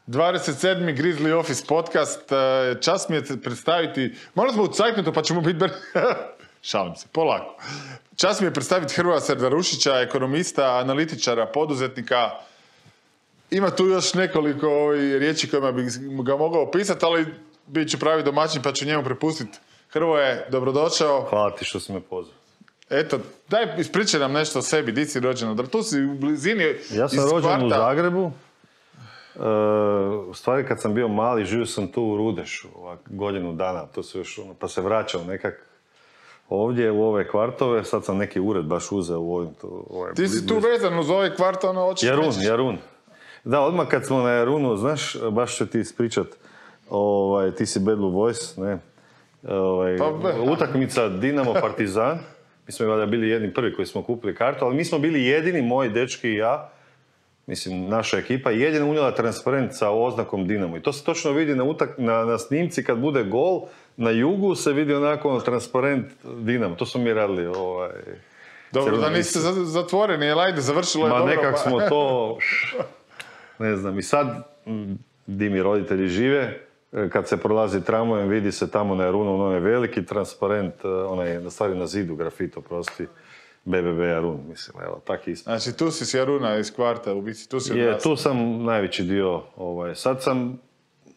27. Grizzly Office podcast. Čast mi je predstaviti, morali smo u cajtnutu pa ćemo biti šalim se, polako. Čast mi je predstaviti Hrvoja Serdarušića, ekonomista, analitičara, poduzetnika. Ima tu još nekoliko riječi kojima bih ga mogao opisati, ali bit ću pravi domaćin pa ću njemu prepustiti. Hrvoje, dobrodošao. Hvala ti što si me pozvao. Eto, daj ispričaj nam nešto o sebi, di si rođen? Tu si u blizini Ja sam rođen u Zagrebu. U stvari kad sam bio mali, živio sam tu u Rudešu, godinu dana, to se još, pa se vraćao nekak ovdje u ove kvartove, sad sam neki ured baš uzeo u ovim... Ti si tu vezan uz ove kvartove, očito nećeš... Jarun. Da, odmah kad smo na Jarunu, znaš, baš ću ti ispričat, ti si Bad Blue Boys, ne? Utakmica Dinamo Partizan, mi smo valjda bili jedni prvi koji smo kupili kartu, ali mi smo bili jedini, moji dečki i ja, mislim, naša ekipa, jedina unijela transparent sa oznakom Dinamo. I to se točno vidi na snimci kad bude gol, na jugu se vidi onako transparent Dinamo. To smo mi radili. Dobro, da niste zatvoreni, jel ajde, završilo je dobro. Nekak smo to, ne znam, i sad, di mi roditelji žive, kad se prolazi tramvajem, vidi se tamo na Jarunu, onaj veliki transparent, onaj, na stvari na zidu, grafito, prosti. BBB Jarun, mislim, evo, tak isto. Znači, tu si s Jaruna iz kvarta, u biti, tu si odrastao. Tu sam najveći dio, sad sam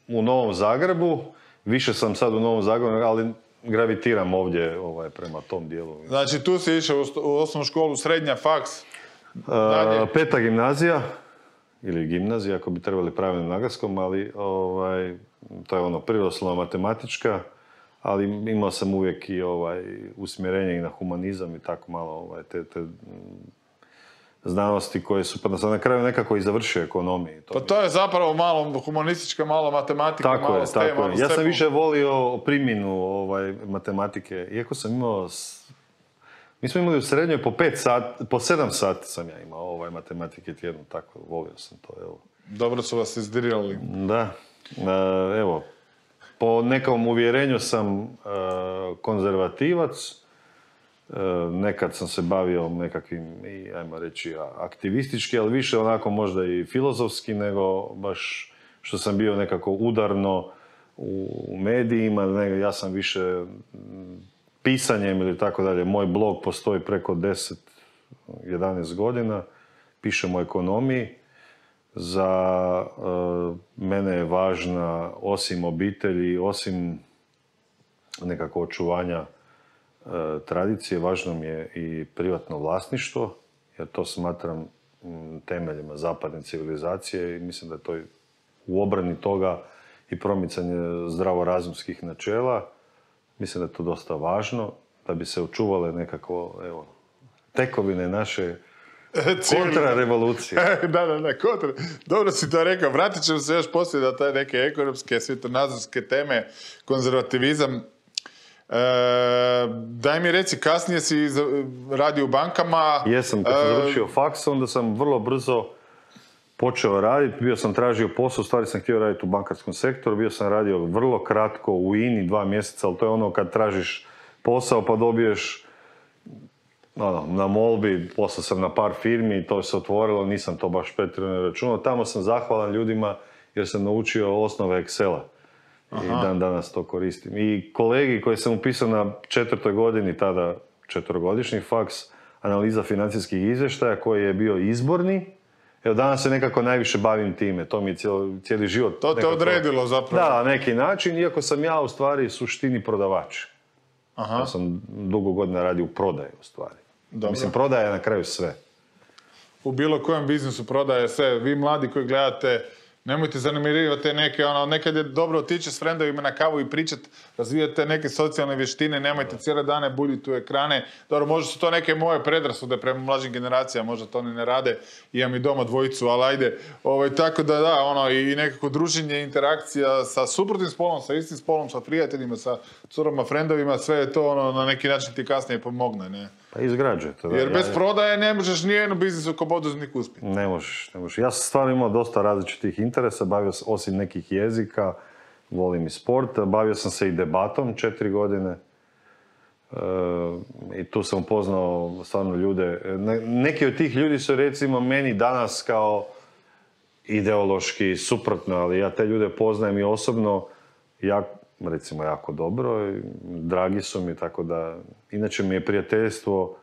u Novom Zagrebu, više sam sad u Novom Zagrebu, ali gravitiram ovdje prema tom dijelu. Znači, tu si išao u osnovnu školu, srednja, faks, dalje? Peta gimnazija, ili gimnazija, ako bi trebali pravilno naglaskom, ali to je prirodoslovna matematička, ali imao sam uvijek i usmjerenje i na humanizam i tako malo te znanosti koje su, pa sam na kraju nekako i završio ekonomiju. Pa to je zapravo malo humanistička, malo matematika, tako malo je, STEM. Tako je. Ja sam više volio primjenu matematike, iako sam imao... Mi smo imali u srednjoj po 7 sati sam ja imao matematike tjedno, tako volio sam to, evo. Dobro su vas izdirirali. Da, evo. Po nekom uvjerenju sam konzervativac, nekad sam se bavio nekakvim, ajmo reći, aktivistički, ali više onako možda i filozofski, nego baš što sam bio nekako udarno u medijima, nego ja sam više pisanjem ili tako dalje. Moj blog postoji preko 10-11 godina, pišem o ekonomiji. Za mene je važna, osim obitelji, osim nekako očuvanja tradicije, važno mi je i privatno vlasništvo, jer to smatram temeljima zapadne civilizacije i mislim da je to u obrani toga i promicanje zdravorazumskih načela. Mislim da je to dosta važno, da bi se očuvale nekako, tekovine naše kontrarevolucije. Da, kontra. Dobro si to rekao. Vratit ćemo se još poslije da taj neke ekonomske, svjetonazorske teme, konzervativizam. Daj mi reci, kasnije si radio u bankama. Jesam, kad sam završio faks, onda sam vrlo brzo počeo raditi. Bio sam tražio posao, u stvari sam htio raditi u bankarskom sektoru. Bio sam radio vrlo kratko u INI, 2 mjeseca, ali to je ono kad tražiš posao pa dobiješ na molbi, poslao sam na par firmi i to se otvorilo, nisam to baš pretjerano računao. Tamo sam zahvalan ljudima jer sam naučio osnove Excela. I dan danas to koristim. I kolegi koji sam upisao na 4. godini, tada 4-godišnji faks, analiza financijskih izvještaja koji je bio izborni. Evo, danas se nekako najviše bavim time, to mi je cijeli život. To te odredilo zapravo. Da, na neki način, iako sam ja u stvari suštini prodavač. Ja sam dugo godina radio u prodaju u stvari. Dobro. Mislim, prodaja je na kraju sve. U bilo kojem biznisu prodaje sve. Vi mladi koji gledate, nemojte zanemarivati neke, nekad je dobro otići s frendovima na kavu i pričati, razvijate neke socijalne vještine, nemojte cijele dane buljiti u ekrane. Dobro, možda su to neke moje predrasude prema mlađim generacijama, možda to ni ne rade, imam i doma dvojicu, ali ajde. Tako da, i nekako druženje, interakcija sa suprotnim spolom, sa istim spolom, sa prijateljima, sa curama, frendovima, sve je to na neki način ti kasnije pomogne, ne? Pa izgrađuje to. Jer bez prodaje ne možeš nijednu biznisu kao poduzetnik uspjeti. Ne možeš. Ja sam stvarno imao dosta različitih interesa, bavio sam osim nekih jezika, volim i sport, bavio sam se i debatom 4 godine. I tu sam upoznao stvarno ljude. Neki od tih ljudi su recimo meni danas kao ideološki suprotno, ali ja te ljude poznajem i osobno, recimo jako dobro, i dragi su mi, tako da, inače mi je prijateljstvo,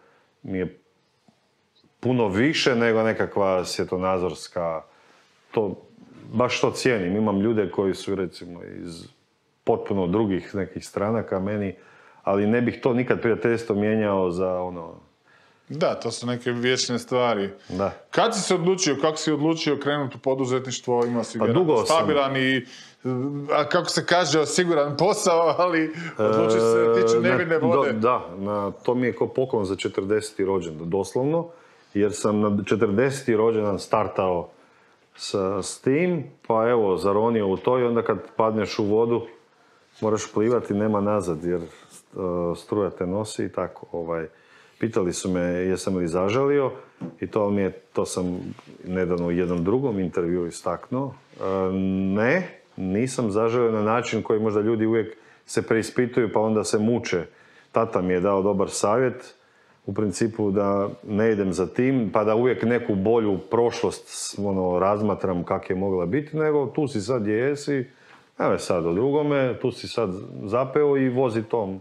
mi je puno više nego nekakva svjetonazorska, baš to cijenim. Imam ljude koji su recimo iz potpuno drugih nekih stranaka meni, ali ne bih to nikad prijateljstvo mijenjao za ono... Da, to su neke vječne stvari. Da. Kad si se odlučio, kako si odlučio krenuti u poduzetništvo, imao si dugo stabilan i, kako se kaže, siguran posao, ali odlučio se tiču nevine vode. To mi je ko poklon za 40. rođendan, doslovno, jer sam na 40. rođendan startao s tim, pa evo, zaronio u to i onda kad padneš u vodu, moraš plivati, nema nazad, jer struja te nosi i tako. Pitali su me jesam li zažalio i to sam nedavno u jednom drugom intervju istaknuo. Ne, nisam zažalio na način koji možda ljudi uvijek se preispituju pa onda se muče. Tata mi je dao dobar savjet, u principu da ne idem za tim, pa da uvijek neku bolju prošlost razmatram kak je mogla biti, nego tu si sad gdje jesi, evo sad o drugome, tu si sad zapeo i vozi tom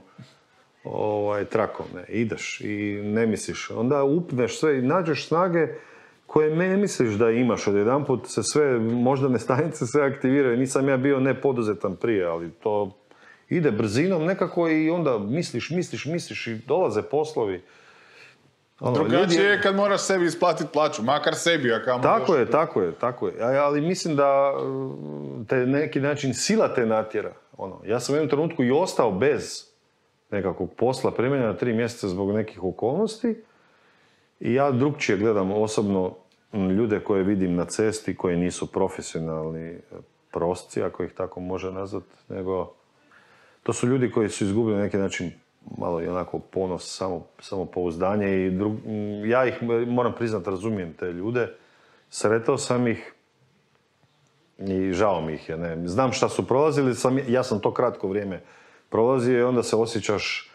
trakom, ideš i ne misliš. Onda upneš sve i nađeš snage koje ne misliš da imaš. Odjedanput se sve, moždane stanice sve aktiviraju. Nisam ja bio nepoduzetan prije, ali to ide brzinom nekako i onda misliš i dolaze poslovi. Drugačije je kad moraš sebi isplatiti plaću, makar sebi. Tako je. Ali mislim da te neki način sila te natjera. Ja sam u jednom trenutku i ostao bez nekakvog posla, primjenja na 3 mjeseca zbog nekih okolnosti i ja drugčije gledam osobno ljude koje vidim na cesti koji nisu profesionalni prosci, ako ih tako može nazvati, nego to su ljudi koji su izgubili na neki način malo i onako ponos, samopouzdanje i ja ih, moram priznati, razumijem te ljude, sretao sam ih i žao mi ih je, znam šta su prolazili, ja sam to kratko vrijeme prolazio i onda se osjećaš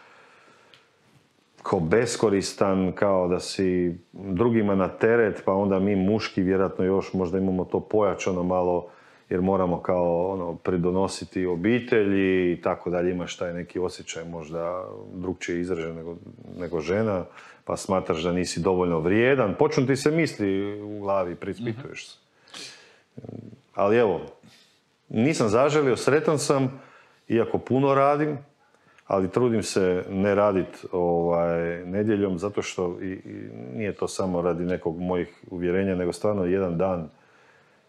kao beskoristan, kao da si drugima na teret, pa onda mi muški vjerojatno još možda imamo to pojačano malo, jer moramo kao pridonositi obitelji i tako dalje, imaš taj neki osjećaj možda drugčije izražen nego žena, pa smatraš da nisi dovoljno vrijedan, počnu ti se misli u glavi, preispituješ se. Ali evo, nisam zaželio, sretan sam, iako puno radim, ali trudim se ne raditi nedjeljom, zato što i nije to samo radi nekog mojih uvjerenja, nego stvarno jedan dan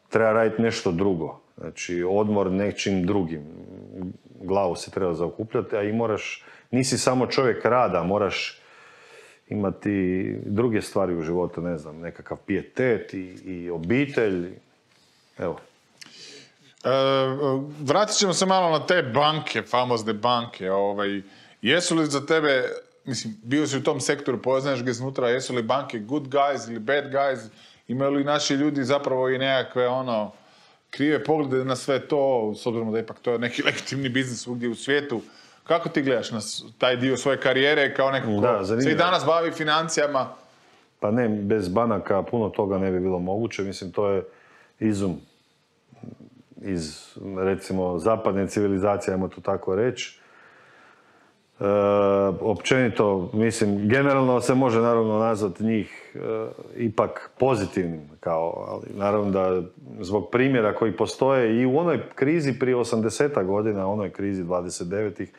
treba raditi nešto drugo. Znači, odmor nečim drugim. Glavu se treba zaokupljati, a i nisi samo čovjek rada, moraš imati druge stvari u životu, ne znam, nekakav pijetet i obitelj. Evo. Vratit ćemo se malo na te banke, famozne banke. Jesu li za tebe, mislim, bio si u tom sektoru, poznaješ ga iznutra, jesu li banke good guys ili bad guys? Imaju li naši ljudi zapravo i nekakve krive poglede na sve to, s obzirom da ipak to je neki legitimni biznis svugdje u svijetu? Kako ti gledaš na taj dio svoje karijere kao neko ko se i danas bavi financijama? Pa ne, bez banaka puno toga ne bi bilo moguće. Mislim, to je izum iz, recimo, zapadne civilizacije, ajmo to tako reći. Općenito, mislim, generalno se može naravno nazvati njih ipak pozitivnim, ali naravno da zbog primjera koji postoje i u onoj krizi prije 80 godina, onoj krizi 29-ih,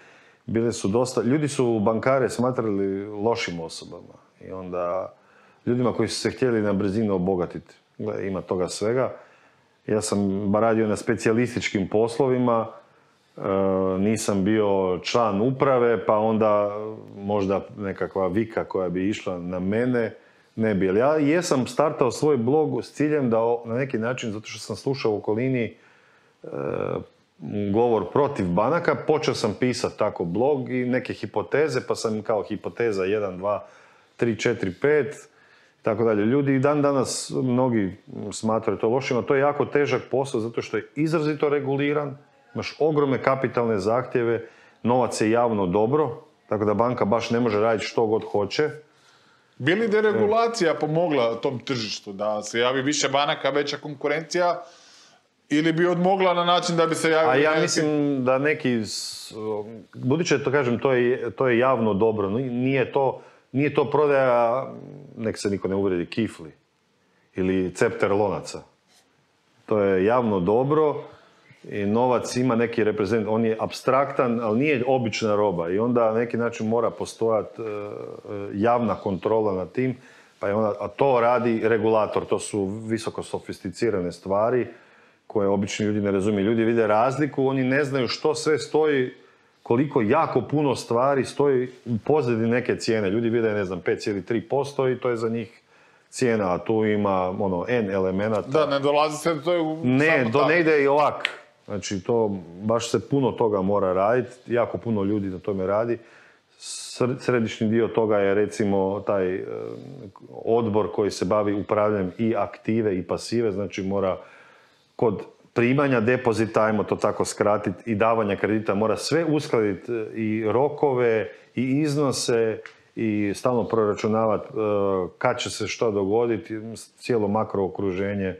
bile su dosta, ljudi su bankare smatrali lošim osobama i onda ljudima koji su se htjeli na brzinu obogatiti. Ima toga svega. Ja sam radio na specijalističkim poslovima, nisam bio član uprave, pa onda možda nekakva vika koja bi išla na mene, ne bi. Ali ja jesam startao svoj blog s ciljem da na neki način, zato što sam slušao u okolini govor protiv banaka, počeo sam pisati tako blog i neke hipoteze, pa sam kao hipoteza 1, 2, 3, 4, 5, tako dalje. Ljudi i dan danas mnogi smatraju to lošima. To je jako težak posao zato što je izrazito reguliran, imaš ogromne kapitalne zahtjeve, novac je javno dobro, tako da banka baš ne može raditi što god hoće. Bi li deregulacija pomogla tom tržištu, da se javi više banaka, veća konkurencija, ili bi odmogla na način da bi se javili... A ja mislim da neki, budući da to kažem, to je javno dobro, nije to prodaja, nek se niko ne uvrijedi, kifli ili cepter lonaca. To je javno dobro i novac ima neki reprezent, on je apstraktan, ali nije obična roba i onda na neki način mora postojati javna kontrola nad tim, a to radi regulator, to su visoko sofisticirane stvari koje obični ljudi ne razumiju. Ljudi vide razliku, oni ne znaju što sve stoji, koliko jako puno stvari stoji u pozadini neke cijene. Ljudi vide, 5,3% i to je za njih cijena, a tu ima N elemenata. Da, ne dolazi se, to je Ne, to ne ide i ovak. Znači, to baš se puno toga mora raditi, jako puno ljudi na tome radi. Središnji dio toga je recimo taj odbor koji se bavi upravljanjem i aktive i pasive, znači mora kod primanja depozita, ajmo to tako skratiti, i davanja kredita mora sve uskladiti, i rokove, i iznose, i stalno proračunavati kad će se što dogoditi, cijelo makrookruženje,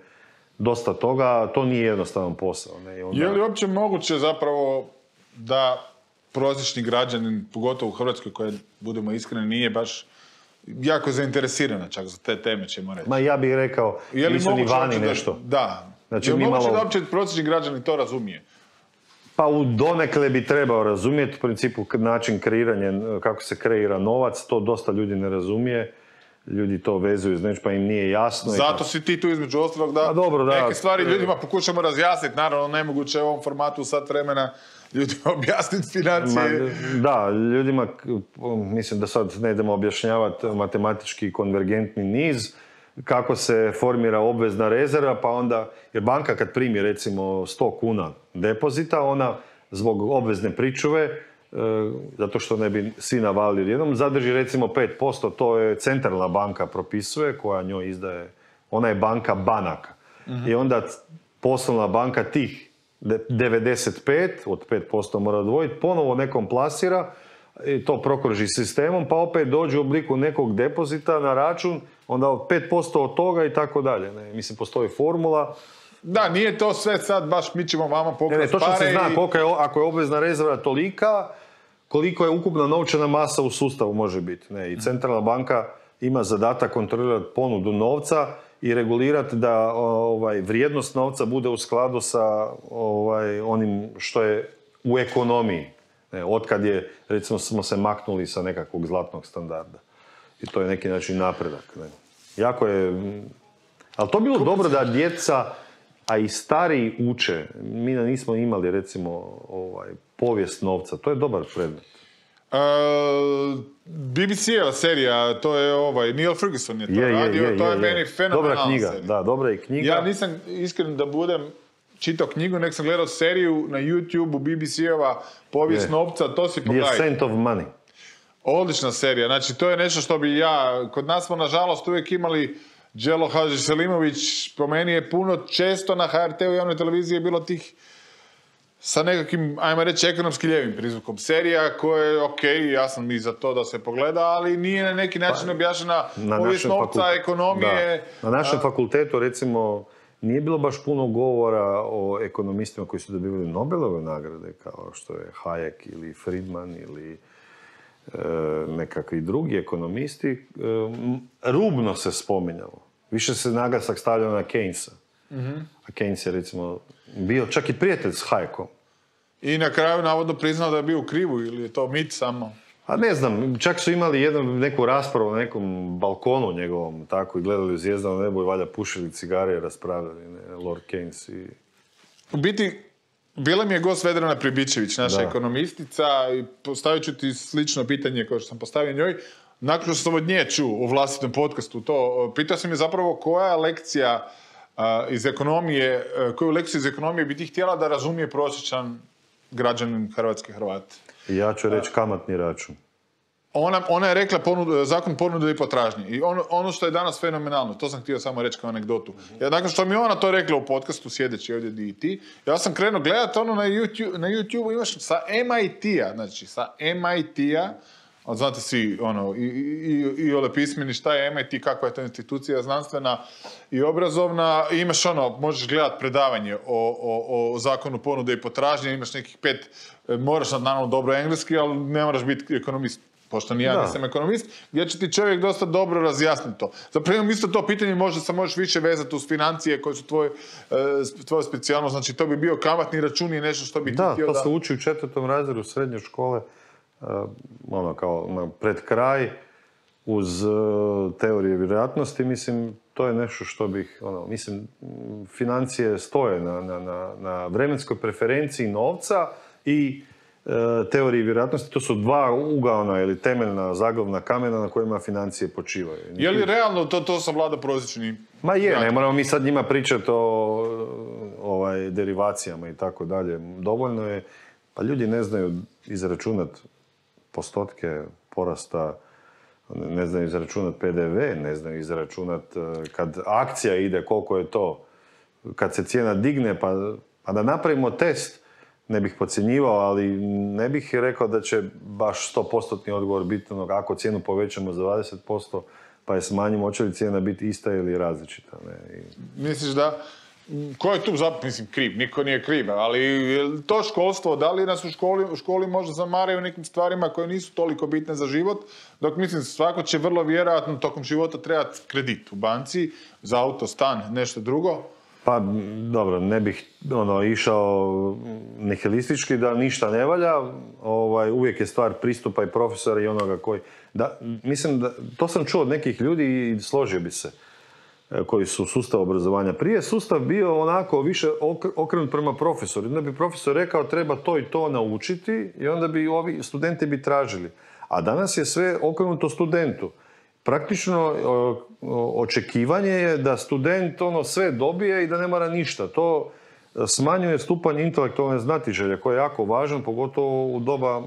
dosta toga, to nije jednostavan posao. Ne? Onda... Je li uopće moguće zapravo da prosječni građanin, pogotovo u Hrvatskoj, koja, budemo iskreni, nije baš jako zainteresirana čak za te teme, ćemo reći? Ma ja bih rekao, nisu ni vani nešto. Da. Znači, je li moguće da uopće prosječni građanin to razumije? Pa u donekle bi trebao razumjeti, u principu način kreiranja, kako se kreira novac, to dosta ljudi ne razumije. Ljudi to vezuju, znači pa im nije jasno. Zato si ti tu između ostalog da, neke stvari ljudima pokušamo razjasniti. Naravno, nemoguće u ovom formatu sat vremena ljudima objasniti financije. Da, ljudima, mislim da sad ne idemo objašnjavati matematički konvergentni niz, kako se formira obvezna rezerva, pa onda, jer banka kad primi recimo 100 kuna depozita, ona zbog obvezne pričuve, zato što ne bi svi navalili jednom, zadrži recimo 5%, to je centralna banka propisuje, koja njoj izdaje, ona je banka banaka. I onda poslovna banka tih 95, od 5% mora odvojiti, ponovo nekom plasira, i to prokruži sistemom, pa opet dođe u obliku nekog depozita na račun, onda 5% od toga i tako dalje. Mislim, postoji formula. Da, nije to sve sad baš mi ćemo vama pokrasti pare. Točno se zna koliko je, ako je obvezna rezerva tolika, koliko je ukupna novčana masa u sustavu može biti. I centralna banka ima zadatak kontrolirati ponudu novca i regulirati da vrijednost novca bude u skladu sa onim što je u ekonomiji. Otkad je, recimo, smo se maknuli sa nekakvog zlatnog standarda. I to je neki način napredak. Jako je... Ali to bilo dobro da djeca, a i stariji uče. Mi nismo imali, recimo, povijest novca. To je dobar predmet. BBC-eva serija, to je Neil Ferguson je to radio, to je meni fenomenalna dobra knjiga, serija. Da, dobra je knjiga. Ja nisam iskren da budem čitao knjigu, nek sam gledao seriju na YouTube-u, BBC-ova povijest novca, to si pogledaj. The Ascent of Money. Odlična serija, znači to je nešto što bi ja, kod nas smo nažalost uvijek imali Đelo Hadžiselimović, po meni je puno često na HRT-u javnoj televiziji je bilo tih sa nekakvim, ajmo reći, ekonomski ljevim prizvukom. Serija koja je okej, ja sam i za to da se pogleda, ali nije na neki način objašnjena povijest novca, ekonomije. Da. Na našem fakultetu, recimo, nije bilo baš puno govora o ekonomistima koji su dobivali Nobelove nagrade, kao što je Hayek ili Friedman ili nekakvi drugi ekonomisti. Rubno se spominjalo. Više se naglasak stavljao na Keynesa. A Keynes je, recimo, bio čak i prijatelj s Hayekom. I na kraju navodno priznao da je bio u krivu, ili je to mit samo? A ne znam, čak su imali neku raspravu na nekom balkonu njegovom, tako, i gledali u zvijezdano nebo i valjda pušili cigare i raspravljali, Lord Keynes i... U biti, bila mi je gost Vedrana Pribičević, naša ekonomistica, i postavit ću ti slično pitanje kao što sam postavio njoj. Nakon što sam od nje čuo u vlastitom podcastu to, pitao sam je zapravo koja lekcija iz ekonomije, koju lekciju iz ekonomije bi ti htjela da razumije prosječan građanin Hrvatske, Hrvati? Ja ću reći kamatni račun. Ona je rekla zakon ponude i potražnje. I ono što je danas fenomenalno, to sam htio samo reći kao anegdotu. Ja, nakon što mi ona to rekla u podcastu, sjedeći ovdje di i ti, ja sam krenuo gledati ono na YouTube imaš sa MIT-a, znači sa MIT-a, a znate svi, i ole pismeni, šta je MIT, kakva je to institucija znanstvena i obrazovna, i imaš možeš gledati predavanje o zakonu ponude i potražnje, imaš nekih 5, moraš naravno dobro engleski, ali ne moraš biti ekonomist, pošto ni ja nisam ekonomist, gdje će ti čovjek dosta dobro razjasniti to. Zapravo imam isto to pitanje, možda se možeš više vezati uz financije koje su tvoja specijalnost, znači to bi bio kamatni račun i nešto što bi ti htio da... Da, to se uči u 4. razredu srednje škole, kao pred kraj, uz teorije vjerojatnosti, mislim, to je nešto što bih, mislim, financije stoje na vremenskoj preferenciji novca i teoriji vjerojatnosti, to su 2 ugaona ili temeljna zaglavna kamena na kojima financije počivaju. Je li realno to savlada prosječni? Ma je, ne moramo mi sad njima pričati o derivacijama i tako dalje. Dovoljno je, pa ljudi ne znaju izračunati postotke porasta, ne znaju izračunati PDV, ne znaju izračunati kad akcija ide, koliko je to, kad se cijena digne, pa da napravimo test. Ne bih podcjenjivao, ali ne bih rekao da će baš 100% odgovor biti ako cijenu povećamo za 20%, pa je smanjimo, hoće li cijena biti ista ili različita. Ne? Misliš da, ko je tu mislim, kriv? Niko nije kriv, ali to školstvo, da li nas u školi možda zamaraju nekim stvarima koje nisu toliko bitne za život, dok mislim svako će vrlo vjerojatno tokom života trebati kredit u banci, za auto, stan, nešto drugo. Pa, dobro, ne bih išao nihilistički da ništa ne valja. Uvijek je stvar pristupa i profesora i onoga koji... Mislim da, to sam čuo od nekih ljudi i složio bi se, koji su u sustavu obrazovanja. Prije sustav bio onako više okrenut prema profesoru. Onda bi profesor rekao treba to i to naučiti i onda bi ovi studenti bi tražili. A danas je sve okrenuto studentu. Praktično očekivanje je da student sve dobije i da ne mora ništa. To smanjuje stupanj intelektualne znatiželje koji je jako važan, pogotovo u doba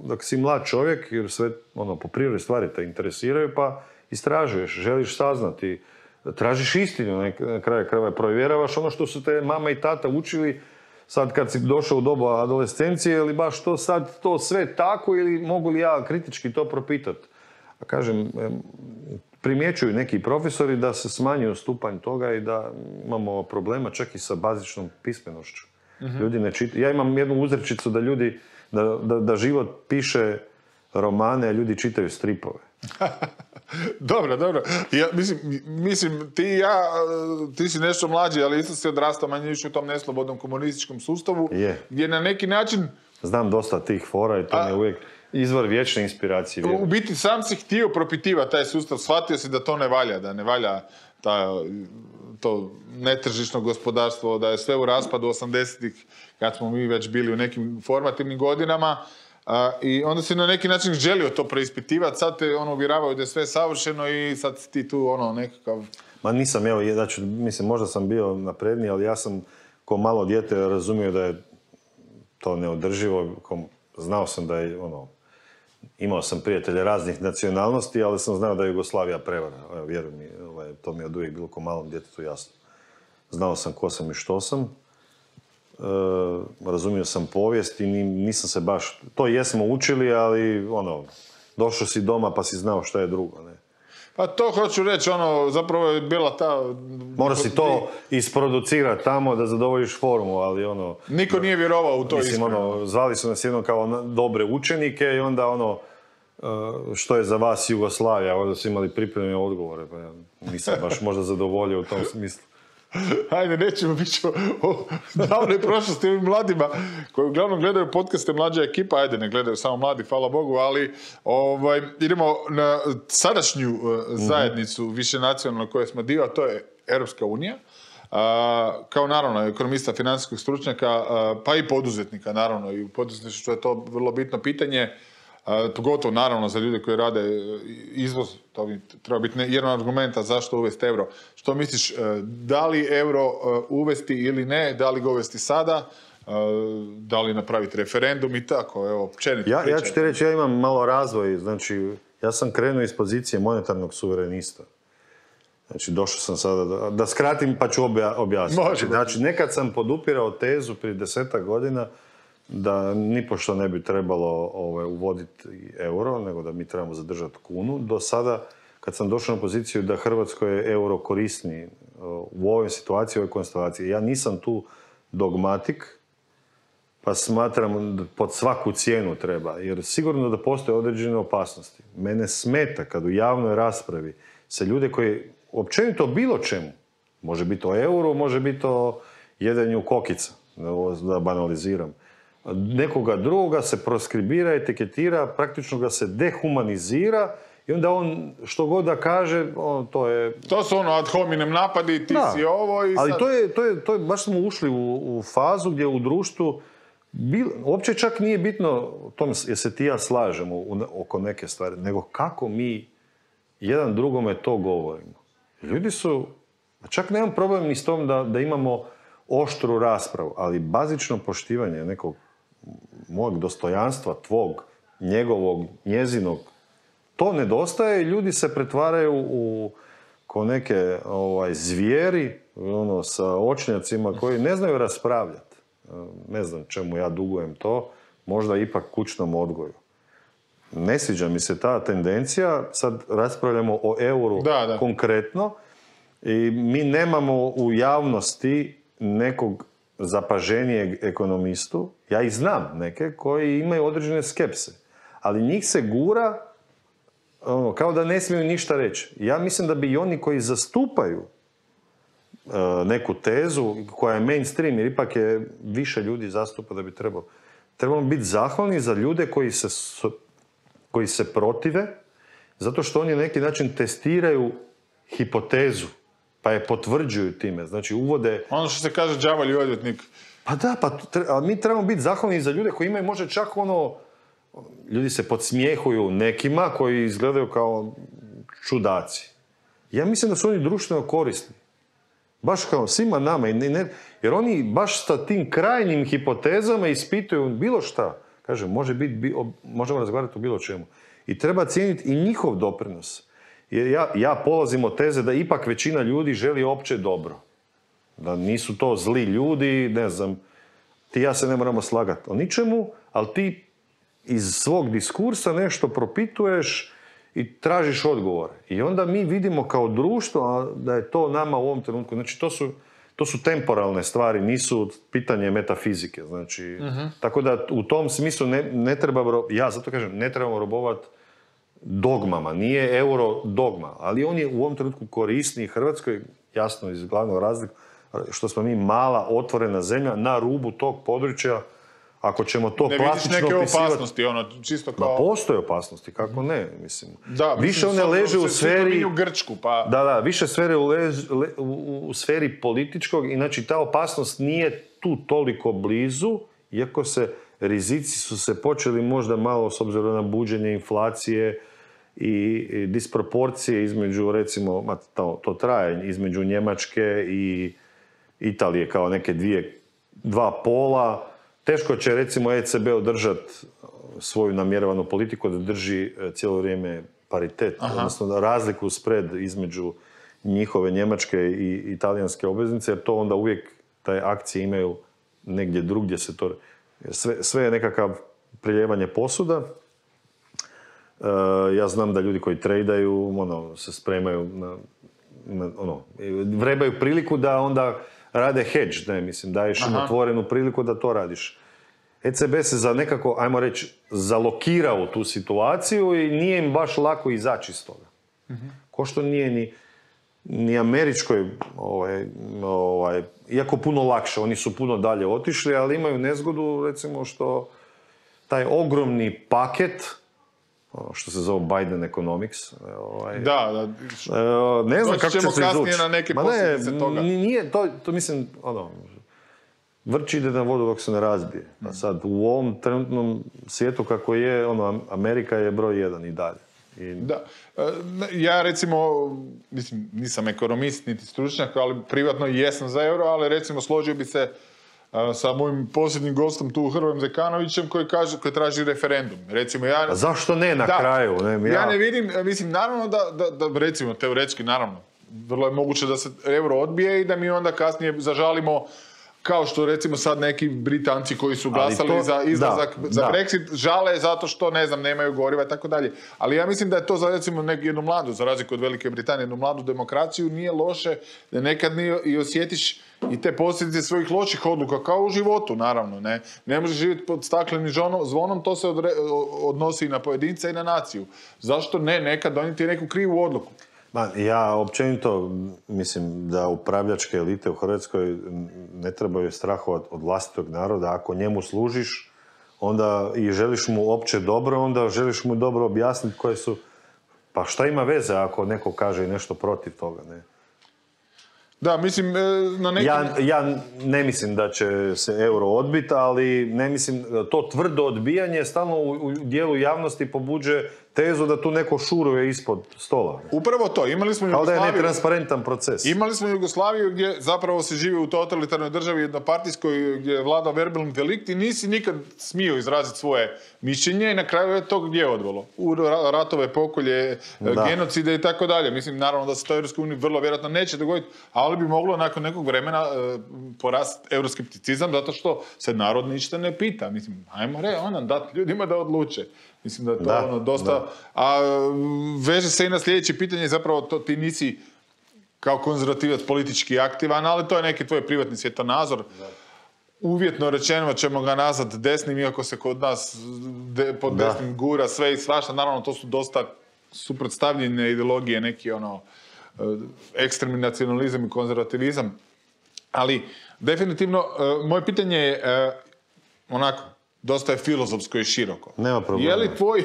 dok si mlad čovjek, jer sve po prirodi stvari te interesiraju, pa istražuješ, želiš saznati, tražiš istinu, na kraju krajeva provjeravaš ono što su te mama i tata učili sad kad si došao u dobu adolescencije, ili baš to sad to sve tako ili mogu li ja kritički to propitati. A kažem, primjećuju neki profesori da se smanjuje stupanj toga i da imamo problema čak i sa bazičnom pismenošću. Mm-hmm. Ljudi ne čitaju. Ja imam jednu uzrečicu da ljudi, da život piše romane, a ljudi čitaju stripove. Dobro. Ja, mislim, ti si nešto mlađi, ali isto si odrastao manje više u tom neslobodnom komunističkom sustavu, gdje na neki način... Znam dosta tih fora i to mi je uvijek izvor vječne inspiracije. U biti sam si htio propitivati taj sustav, shvatio si da to ne valja, da ne valja to netržišno gospodarstvo, da je sve u raspadu 80-ih, kad smo mi već bili u nekim formativnim godinama. I onda si na neki način želio to preispitivati, sad te uvjeravaju da je sve savršeno i sad si ti tu nekakav... Ma nisam, mislim, možda sam bio napredniji, ali ja sam ko malo dijete razumio da je to neodrživo. Znao sam da je, imao sam prijatelje raznih nacionalnosti, ali sam znao da je Jugoslavija prevara. Vjeruj mi, to mi je od uvijek bilo ko malom djetetu jasno. Znao sam ko sam i što sam. Razumio sam povijest i nisam se baš... To jesmo učili, ali došao si doma pa si znao šta je drugo, ne? Pa to hoću reći, zapravo je bila ta... Mora si to isproducirati tamo da zadovoljiš formu, ali Niko nije vjerovao u to iskreno. Zvali su nas jednom kao dobre učenike i onda što je za vas Jugoslavija, onda su imali pripremljene odgovore, pa ja nisam baš možda zadovoljio u tom smislu. Hajde, nećemo biti o davnoj prošlosti ovim mladima koji uglavnom gledaju podcaste Mlađa ekipa, ajde, ne gledaju samo mladi, hvala Bogu, ali idemo na sadašnju zajednicu višenacionalnu koje smo dio, a to je Europska unija. Kao naravno ekonomista, financijskog stručnjaka, pa i poduzetnika, naravno, i u poduzetništvu je to vrlo bitno pitanje, pogotovo naravno za ljude koji rade izvoz, to bi treba biti jedan od argumenta zašto uvesti euro. Što misliš, da li euro uvesti ili ne, da li ga uvesti sada, da li napraviti referendum i tako, evo, općenito. Ja ću ti reći, ja imam malo razvoj, znači, ja sam krenuo iz pozicije monetarnog suverenista. Znači, došao sam sada, da skratim pa ću objasniti. Može. Znači, nekad sam podupirao tezu prije 10 godina da nipošto ne bi trebalo uvoditi euro, nego da mi trebamo zadržati kunu. Do sada, kad sam došao na poziciju da Hrvatskoj je euro korisniji u ovoj situaciji, u ovoj konstelaciji, ja nisam tu dogmatik, pa smatram da pod svaku cijenu treba, jer sigurno da postoje određene opasnosti. Mene smeta kad u javnoj raspravi se ljude koji općenito bilo čemu, može biti o euru, može biti o jedenju kokica, da banaliziram, nekoga drugoga se proskribira, etiketira, praktično ga se dehumanizira i onda on što god da kaže, to je... To su ono ad hominem napadi, ti si ovo i sad... Ali to je, baš smo ušli u fazu gdje u društvu uopće čak nije bitno jer se ti ja slažemo oko neke stvari, nego kako mi jedan drugome to govorimo. Ljudi su, čak nemam problem ni s tom da imamo oštru raspravu, ali bazično poštivanje nekog mojeg dostojanstva, tvog, njegovog, njezinog, to nedostaje i ljudi se pretvaraju ko neke zvijeri sa očnjacima koji ne znaju raspravljati. Ne znam čemu ja dugujem to, možda ipak kućnom odgoju. Ne sviđa mi se ta tendencija, sad raspravljamo o euru konkretno i mi nemamo u javnosti nekog zapaženijeg ekonomistu, ja ih znam neke koji imaju određene skepse, ali njih se gura kao da ne smiju ništa reći. Ja mislim da bi i oni koji zastupaju neku tezu koja je mainstream, jer ipak je više ljudi zastupa da bi trebamo biti zahvalni za ljude koji se protive, zato što oni na neki način testiraju hipotezu, pa je potvrđuju time. Znači uvode... Ono što se kaže đavolji odvjetnik. Pa da, ali mi trebamo biti zahvalni za ljude koji imaju možda čak ljudi se podsmijehuju nekima koji izgledaju kao čudaci. Ja mislim da su oni društveno korisni. Baš kao svima nama. Jer oni baš sa tim krajnjim hipotezama ispituju bilo šta. Kaže, možemo razgovarati o bilo čemu. I treba cijeniti i njihov doprinos. Jer ja polazim od teze da ipak većina ljudi želi opće dobro. Da nisu to zli ljudi, ne znam, ti ja se ne moramo slagati o ničemu, ali ti iz svog diskursa nešto propituješ i tražiš odgovor. I onda mi vidimo kao društvo da je to nama u ovom trenutku. Znači, to su temporalne stvari, nisu pitanje metafizike. Znači, tako da u tom smislu ne treba, ja zato kažem, ne trebamo robovati dogmama. Nije euro dogma, ali on je u ovom trenutku korisniji Hrvatskoj, jasno iz glavnog razlika, što smo mi mala, otvorena zemlja na rubu tog područja. Ako ćemo to plastično opisivati... Ne vidiš neke opasnosti, čisto kao... Ma postoje opasnosti, kako ne, mislim. Da, više one leže u sferi... Grčku, pa... Da, više sfere u sferi političkog, inači ta opasnost nije tu toliko blizu, iako rizici su se počeli možda malo, s obzirom na buđenje inflacije i disproporcije između, recimo, to traje, između Njemačke i Italije kao neke dva pola. Teško će, recimo, ECB održati svoju namjeravanu politiku da drži cijelo vrijeme paritet, odnosno razliku spread između njihove njemačke i italijanske obveznice, jer to onda uvijek te akcije imaju negdje drugdje se to... Sve je nekakav priljevanje posuda. Ja znam da ljudi koji trejdaju, se spremaju vrebaju priliku da onda rade hedge, daješ im otvorenu priliku da to radiš. ECB se nekako, ajmo reći, zalokirao tu situaciju i nije im baš lako izaći iz toga. Ko što nije ni američkoj, iako puno lakše, oni su puno dalje otišli, ali imaju nezgodu, recimo, što taj ogromni paket, što se zove Biden Economics. Da. Ne znam kako će se izvući. Na neke posljedice toga. Nije, to mislim, vrč ide na vodu dok se ne razbije. A sad, u ovom trenutnom svijetu kako je, Amerika je broj 1 i dalje. Da. Ja, recimo, nisam ekonomist, niti stručnjak, ali privatno jesam za euro, ali recimo složio bi se sa mojim posljednjim gostom tu, Hrvojem Zekanovićem, koji traži referendum. Recimo, a zašto ne na kraju? Ja ne vidim, naravno da recimo, teoretski, naravno, vrlo je moguće da se euro odbije i da mi onda kasnije zažalimo kao što recimo sad neki Britanci koji su glasali to- za izlazak, da, za da. Brexit, žale zato što, ne znam, nemaju goriva i tako dalje. Ali ja mislim da je to za recimo jednu mladu, za razliku od Velike Britanije, jednu mladu demokraciju nije loše da nekad i osjetiš i te posljedice svojih loših odluka, kao u životu, naravno. Ne možeš živjeti pod staklenim zvonom, to se odnosi i na pojedinca i na naciju. Zašto ne nekad donijeti neku krivu odluku? Ja općenito mislim da upravljačke elite u Hrvatskoj ne trebaju strahovati od vlastitog naroda. Ako njemu služiš onda i želiš mu opće dobro, onda želiš mu dobro objasniti koje su... Pa šta ima veze ako neko kaže i nešto protiv toga, ne? Da, mislim, na neki... Ja ne mislim da će se euro odbiti, ali ne mislim, to tvrdo odbijanje stalno u dijelu javnosti pobuđuje tezu da tu neko šuruje ispod stola. Upravo to, imali smo Kao da je Jugoslaviju. netransparentan proces. Imali smo Jugoslaviju gdje zapravo se živi u totalitarnoj državi jednopartijskoj gdje je vladao verbalni delikt i nisi nikad smio izraziti svoje mišljenje i na kraju je to gdje odvelo. U ratove, pokolje, genocide i tako dalje. Mislim, naravno da se to u EU vrlo vjerojatno neće dogoditi, ali bi moglo nakon nekog vremena porasti euroskepticizam zato što se narod ništa ne pita. Mislim, ajmo dati ljudima da odluče. Mislim da je to dosta... A veže se i na sljedeće pitanje, zapravo ti nisi kao konzervativac politički aktivan, ali to je neki tvoj privatni svjetonazor. Uvjetno rečeno ćemo ga nazvati desnim, iako se kod nas pod desnim gura sve i svašta. Naravno, to su dosta suprotstavljene ideologije, neki ekstremni nacionalizam i konzervativizam. Ali, definitivno, moje pitanje je onako, dosta je filozofsko i široko. Nema problema. Je li tvoj,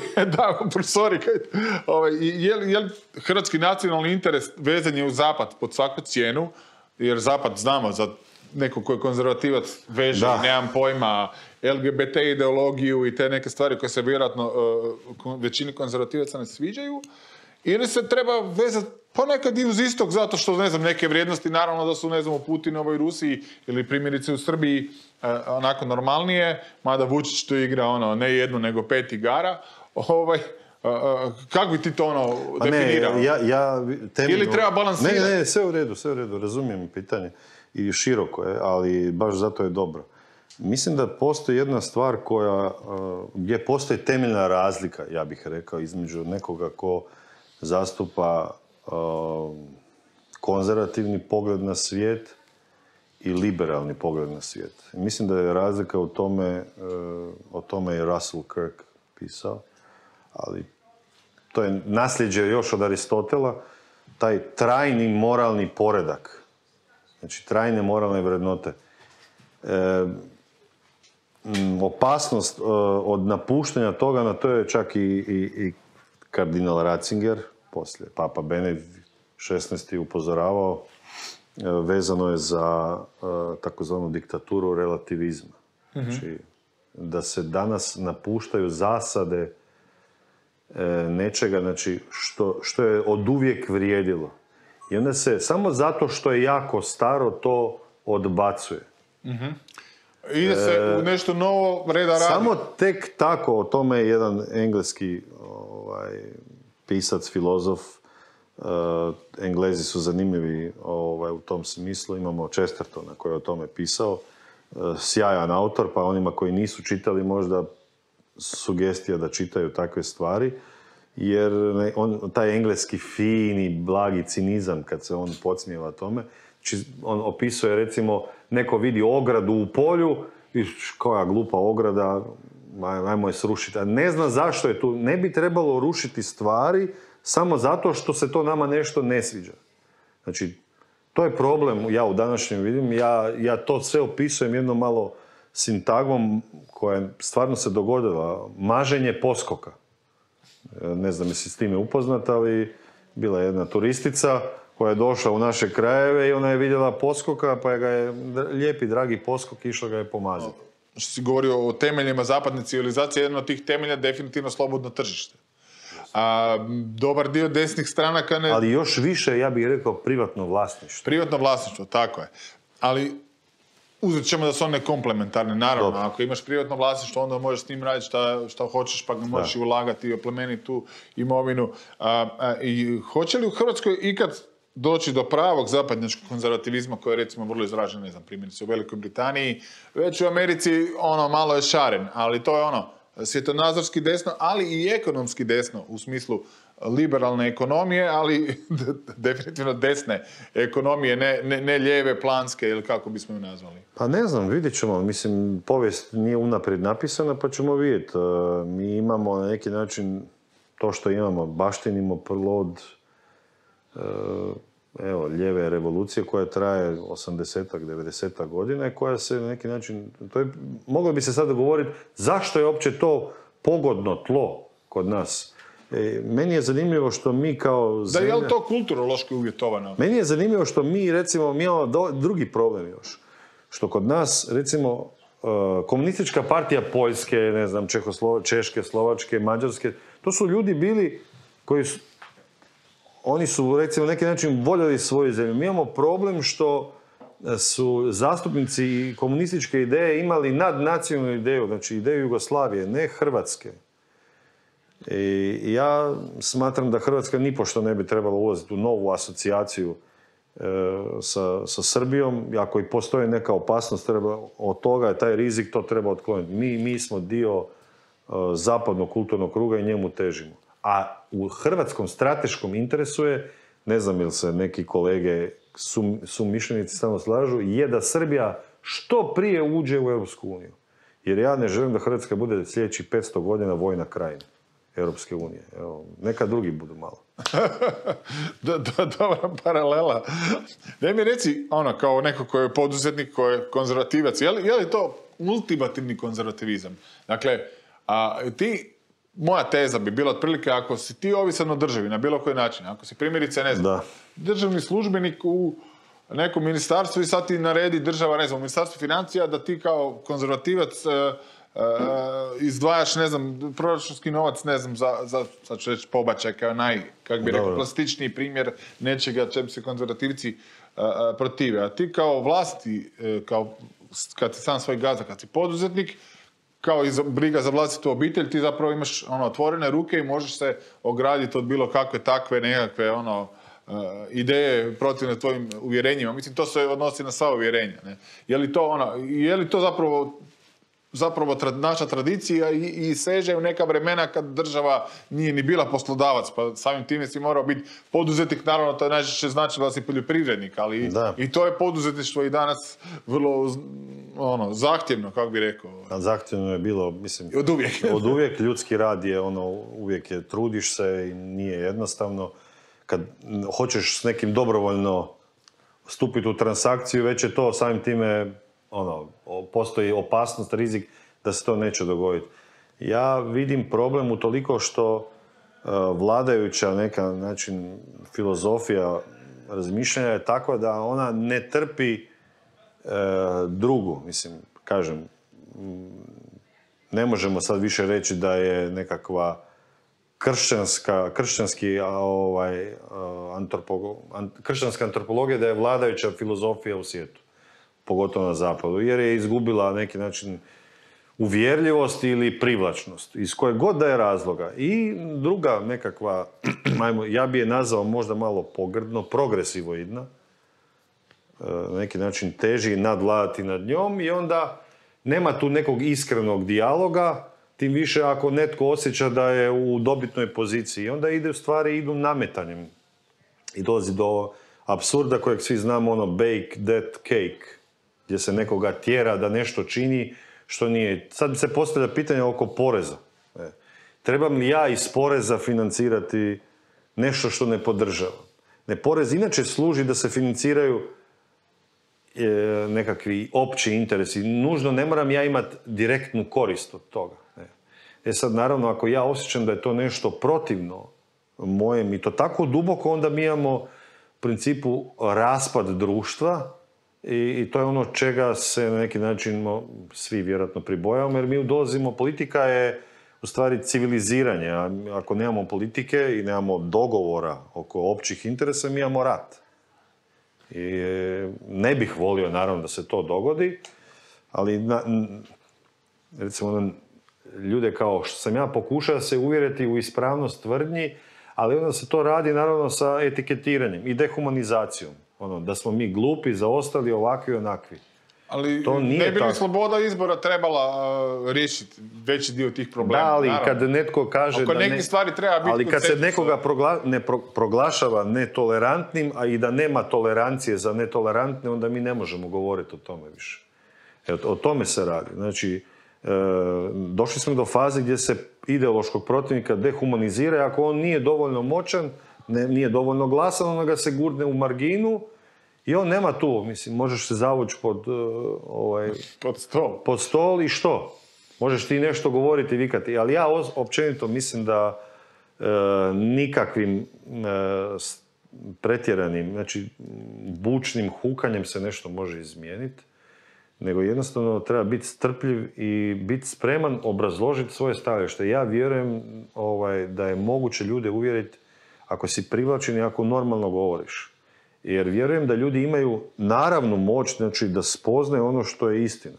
je li hrvatski nacionalni interes vezan je u Zapad pod svaku cijenu, jer Zapad znamo za neko koji je konzervativac veže, nemam pojma, LGBT ideologiju i te neke stvari koje se vjerojatno većini konzervativaca ne sviđaju, ili se treba vezati ponekad i uz istok, zato što, ne znam, neke vrijednosti, naravno da su, ne znam, u Putinovoj Rusiji ili primjerice u Srbiji onako normalnije, mada Vučić tu igra ne jednu, nego 5 igara. Kako bi ti to definirao? Ili treba balansirati? Ne, sve u redu, razumijem pitanje i široko je, ali baš zato je dobro. Mislim da postoji jedna stvar gdje postoji temeljna razlika, ja bih rekao, između nekoga ko zastupa konzervativni pogled na svijet i liberalni pogled na svijet. Mislim da je razlika u tome, o tome je Russell Kirk pisao, ali to je nasljeđe još od Aristotela, taj trajni moralni poredak, znači trajne moralne vrednote. Opasnost od napuštanja toga, na to je čak i kardinal Ratzinger, poslije Papa Benedikt XVI. Upozoravao, vezano je za takozvanu diktaturu relativizma. Znači, da se danas napuštaju zasade nečega, znači, što je oduvijek vrijedilo. I onda se, samo zato što je jako staro, to odbacuje. Ide se u nešto novo, reda radi. Samo tek tako, o tome je jedan engleski pisac, filozof, Englezi su zanimljivi u tom smislu. Imamo Chestertona koji je o tome pisao, sjajan autor, pa onima koji nisu čitali možda sugestija da čitaju takve stvari, jer taj engleski fini, blagi cinizam kad se on podsmijeva tome, on opisuje, recimo, neko vidi ogradu u polju i koja glupa ograda, ajmo je srušiti. A ne zna zašto je tu. Ne bi trebalo rušiti stvari samo zato što se to nama nešto ne sviđa. Znači, to je problem, ja u današnjem vidim, ja to sve opisujem jednom malo sintagmom koja stvarno se dogodila. Maženje poskoka. Ne znam jesi s time upoznat, ali bila je jedna turistica koja je došla u naše krajeve i ona je vidjela poskoka, pa je ga je lijepi, dragi poskok, išla ga je pomaziti. Što si govorio o temeljima zapadne civilizacije, jedan od tih temelja definitivno slobodno tržište. A dobar dio desnih stranaka ne... Ali još više, ja bih rekao, privatno vlasništvo. Privatno vlasništvo, tako je. Ali uzet ćemo da su one komplementarne, naravno. Dobro. Ako imaš privatno vlasništvo, onda možeš s njim raditi šta hoćeš, pa ga možeš i ulagati i oplemeniti tu imovinu. I hoće li u Hrvatskoj ikad doći do pravog zapadnjačkog konzervativizma koji je recimo vrlo izražen, ne znam, primjerice u Velikoj Britaniji, već u Americi malo je šaren, ali to je svjetonazorski desno, ali i ekonomski desno u smislu liberalne ekonomije, ali definitivno desne ekonomije, ne lijeve, planske ili kako bismo ju nazvali. Pa ne znam, vidjet ćemo. Mislim, povijest nije unaprijed napisana, pa ćemo vidjeti. Mi imamo na neki način to što imamo, baštinimo plod lijeve revolucije koja traje 80-ak, 90-ak godina i koja se na neki način, moglo bi se sada govoriti zašto je uopće to pogodno tlo kod nas. Meni je zanimljivo što mi kao zemlja... Da, je li to kulturološki uvjetovano? Meni je zanimljivo što mi, recimo, mi imamo drugi problem još. Što kod nas, recimo, komunistička partija Poljske, ne znam, Češke, Slovačke, Mađarske, to su ljudi bili koji su, oni su, recimo, na neki način voljeli svoju zemlju. Mi imamo problem što su zastupnici komunističke ideje imali nadnacionalnu ideju, znači ideju Jugoslavije, ne Hrvatske. I ja smatram da Hrvatska nipošto ne bi trebala ulaziti u novu asocijaciju sa Srbijom. Ako i postoji neka opasnost od toga, taj rizik, to treba otkloniti. Mi smo dio zapadnog kulturnog kruga i njemu težimo. A u hrvatskom strateškom interesu je, ne znam ili se neki kolege sumišljenici samo slažu, je da Srbija što prije uđe u Europsku uniju. Jer ja ne želim da Hrvatska bude sljedećih 500 godina vojna krajina Europske unije. Evo, neka drugi budu malo. Dobra paralela. Daj mi reci, kao neko koji je poduzetnik, koji je konzervativac, je li to ultimativni konzervativizam? Dakle, moja teza bi bila otprilike, ako si ti ovisan o državi na bilo koji način, ako si primjerice, ne znam, državni službenik u nekom ministarstvu i sad ti naredi država, ne znam, u ministarstvu financija da ti kao konzervativac izdvajaš, ne znam, proračunski novac, ne znam, sad ću reći pobačaj kao plastičniji primjer nečega čem se konzervativci protive. A ti kao vlasti, kad si sam svoj gazda, kad si poduzetnik, kao i briga za vlastitu obitelj, ti zapravo imaš otvorene ruke i možeš se ograditi od bilo kakve takve nekakve ideje protivne tvojim uvjerenjima. Mislim, to se odnosi na sva uvjerenja. Ne? Je li to zapravo naša tradicija i seže u neka vremena kad država nije ni bila poslodavac, pa samim time si morao biti poduzetnik, naravno to najčešće znači da si poljoprivrednik, ali i to je poduzetništvo i danas vrlo zahtjevno, kako bi rekao. Zahtjevno je bilo, mislim, od uvijek ljudski rad je uvijek je, trudiš se i nije jednostavno. Kad hoćeš s nekim dobrovoljno stupiti u transakciju, već je to samim time postoji opasnost, rizik da se to neće dogoditi. Ja vidim problem u toliko što vladajuća neka način filozofija razmišljanja je takva da ona ne trpi drugu. Mislim, kažem, ne možemo sad više reći da je nekakva kršćanska antropologija da je vladajuća filozofija u svijetu, pogotovo na zapadu, jer je izgubila neki način uvjerljivost ili privlačnost, iz koje god da je razloga. I druga nekakva, ja bi je nazvao možda malo pogrdno, progresivoidna, na neki način teži nadvladati nad njom i onda nema tu nekog iskrenog dijaloga, tim više ako netko osjeća da je u dobitnoj poziciji. Onda stvari idu nametanjem i dolazi do apsurda kojeg svi znamo, bake that cake, gdje se nekoga tjera da nešto čini što nije. Sad se postavlja pitanje oko poreza. Trebam li ja iz poreza financirati nešto što ne podržavam? Porez inače služi da se financiraju nekakvi opći interesi. Nužno ne moram ja imati direktnu korist od toga. Sad, naravno, ako ja osjećam da je to nešto protivno mojem i to tako duboko, onda mi imamo u principu raspad društva i to je ono čega se na neki način svi vjerojatno pribojavamo, jer mi dolazimo, politika je u stvari civiliziranje, a ako nemamo politike i nemamo dogovora oko općih interesa, mi imamo rat. I ne bih volio, naravno, da se to dogodi, ali recimo ljude kao što sam ja pokušao se uvjeriti u ispravnost tvrdnji, Ali onda se to radi naravno sa etiketiranjem i dehumanizacijom. Da smo mi glupi, zaostali, ovakvi, onakvi. Ali to nije ne bi li tako. sloboda izbora trebala riješiti veći dio tih problema? Da, ali naravno. kad netko kaže oko da nekih stvari treba biti ali kad se konsenzus. nekoga proglašava netolerantnim, a i da nema tolerancije za netolerantne, onda mi ne možemo govoriti o tome više. O tome se radi. Znači, došli smo do faze gdje se ideološkog protivnika dehumanizira i ako on nije dovoljno moćan, nije dovoljno glasan, onda ga se gurne u marginu i on nema tu, mislim, možeš se zavući pod stol i što? Možeš ti nešto govoriti i vikati, ali ja općenito mislim da nikakvim pretjeranim, znači bučnim hukanjem se nešto može izmijeniti, nego jednostavno treba biti strpljiv i biti spreman obrazložiti svoje stajalište. Ja vjerujem da je moguće ljude uvjeriti ako si privlačen i ako normalno govoriš. Jer vjerujem da ljudi imaju naravnu moć, znači da spoznaju ono što je istina.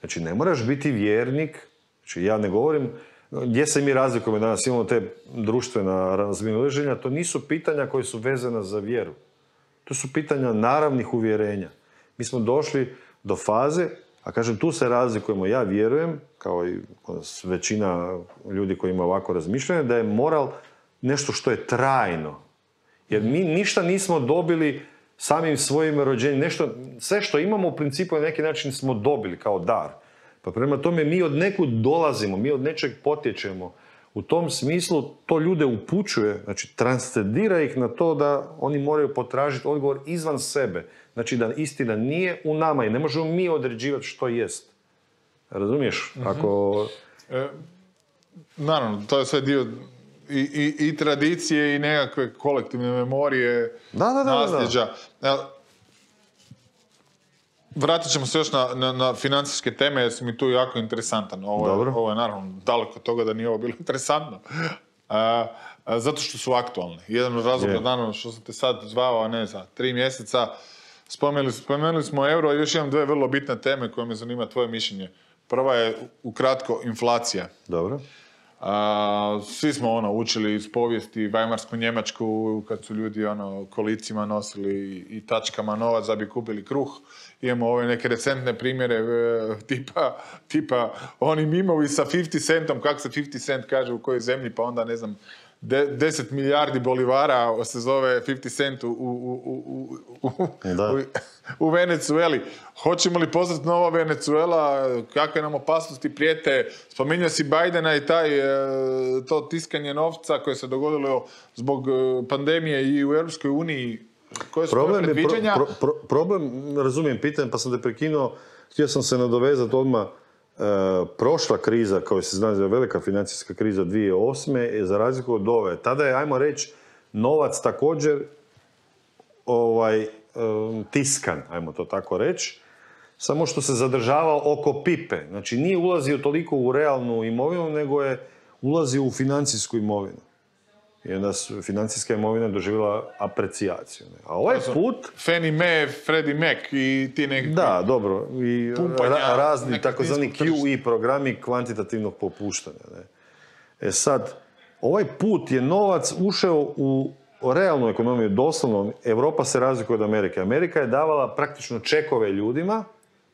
Znači ne moraš biti vjernik, znači ja ne govorim, gdje se mi razlikujemo danas, imamo te društvena razmimoilaženja, to nisu pitanja koje su vezana za vjeru. To su pitanja naravnih uvjerenja. Mi smo došli do faze, a kažem tu se razlikujemo, ja vjerujem, kao i većina ljudi koji ima ovako razmišljanje, da je moral nešto što je trajno. Jer mi ništa nismo dobili samim svojim rođenjem. Sve što imamo u principu na neki način smo dobili kao dar. Pa prema tome mi od nekud dolazimo, mi od nečeg potječemo. U tom smislu to ljude upućuje, znači transcendira ih na to da oni moraju potražiti odgovor izvan sebe. Znači da istina nije u nama i ne možemo mi određivati što jest. Razumiješ? Ako... Naravno, to je sve dio i tradicije i nekakve kolektivne memorije, nasljeđa. Vratit ćemo se još na financijske teme, jer si mi tu jako interesantan. Ovo je naravno daleko od toga da nije ovo bilo interesantno. Zato što su aktualne. Jedan od razloga, naravno, što sam te sad zvao, a ne za 3 mjeseca, spomenuli smo euro i još imam 2 vrlo bitne teme koje me zanima tvoje mišljenje. Prva je, ukratko, inflacija. Dobro. Svi smo učili iz povijesti Vajmarsku Njemačku kad su ljudi kolicima nosili i tačkama novac da bi kupili kruh. Imamo ove neke recentne primjere tipa oni mimovi sa 50 centom, kako se 50 cent kaže u kojoj zemlji, pa onda ne znam 10 milijardi bolivara se zove 50 cent u Venezueli. Hoćemo li postati nova Venezuela? Kakve nam opasnosti prijete? Spominjao si Bidena i to tiskanje novca koje se dogodilo zbog pandemije i u Europskoj uniji. Koje su tvoje predviđanja? Problem, razumijem pitanje, pa sam te prekinuo. Htio sam se nadovezati odmah. Prošla kriza, kao se zna, velika financijska kriza 2008. za razliku od ove. Tada je, ajmo reći, novac također tiskan, ajmo to tako reći, samo što se zadržavao oko pipe. Znači nije ulazio toliko u realnu imovinu, nego je ulazio u financijsku imovinu. I onda su financijska imovina doživjela aprecijaciju. A ovaj put... Fannie Mae, Freddie Mac i ti nekakvi... Da, dobro. I razni takozvani QE programi kvantitativnog popuštanja. Ne? Sad, ovaj put je novac ušao u realnu ekonomiju. Doslovno, Europa se razlikuje od Amerike. Amerika je davala praktično čekove ljudima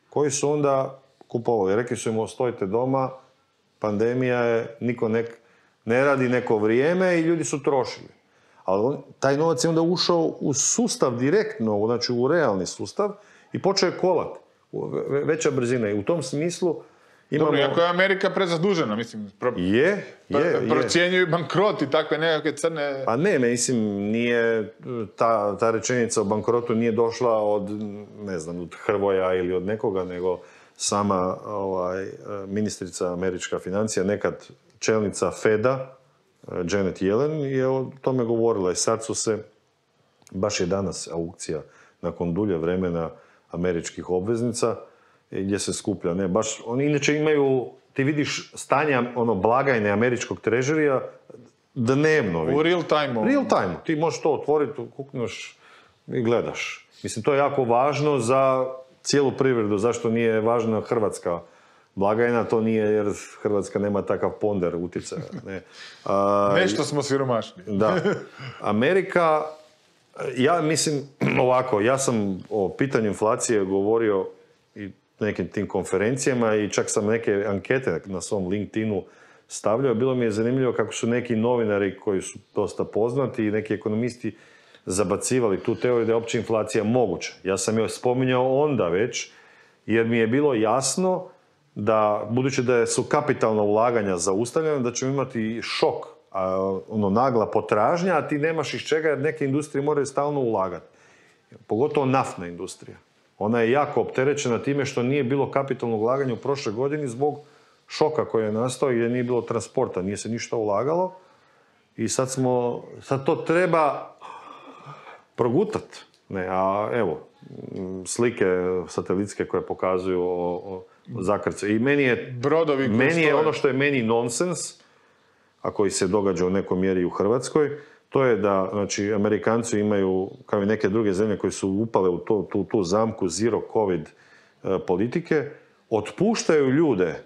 koji su onda kupovali. Rekli su im, ostojite doma, pandemija je, niko ne radi neko vrijeme i ljudi su trošili. Ali taj novac je onda ušao u sustav direktno, znači u realni sustav i počeo je kolati. Veća brzina. I u tom smislu imamo... Dobro, ako je Amerika prezadužena, mislim... Procjenjuju bankrot i takve nekakve crne... Pa ne, mislim, nije... Ta rečenica o bankrotu nije došla od, ne znam, od Hrvoja ili od nekoga, nego sama ministrica američka financija, nekad čelnica Feda, Janet Yellen, je o tome govorila. I sad su se, baš je danas aukcija nakon dulje vremena američkih obveznica, gdje se skuplja. Ne, baš, oni inače imaju, ti vidiš stanja blagajne američkog trežerija dnevno. U real time. Real time. Ti možeš to otvoriti, kukneš i gledaš. Mislim, to je jako važno za cijelu privredu. Zašto nije važna Hrvatska blagajna, to nije jer Hrvatska nema takav ponder utjecaja. Ne. Nešto smo siromašni. Da. Amerika, ja mislim ovako, ja sam o pitanju inflacije govorio i nekim tim konferencijama i čak sam neke ankete na svom LinkedInu stavljao. Bilo mi je zanimljivo kako su neki novinari koji su dosta poznati i neki ekonomisti zabacivali tu teoriju da je opća inflacija moguća. Ja sam joj spominjao onda već, jer mi je bilo jasno da, budući da su kapitalna ulaganja zaustavljena, da ćemo imati šok, nagla potražnja, a ti nemaš iz čega jer neke industrije moraju stalno ulagati. Pogotovo naftna industrija. Ona je jako opterećena time što nije bilo kapitalnog ulaganja u prošloj godini zbog šoka koji je nastao gdje nije bilo transporta, nije se ništa ulagalo i sad to treba progutati. A evo, slike satelitske koje pokazuju o zakrce. I meni je ono što je meni nonsens, a koji se događa u nekoj mjeri u Hrvatskoj, to je da, znači, Amerikanci imaju, kao i neke druge zemlje koje su upale u tu zamku zero covid politike, otpuštaju ljude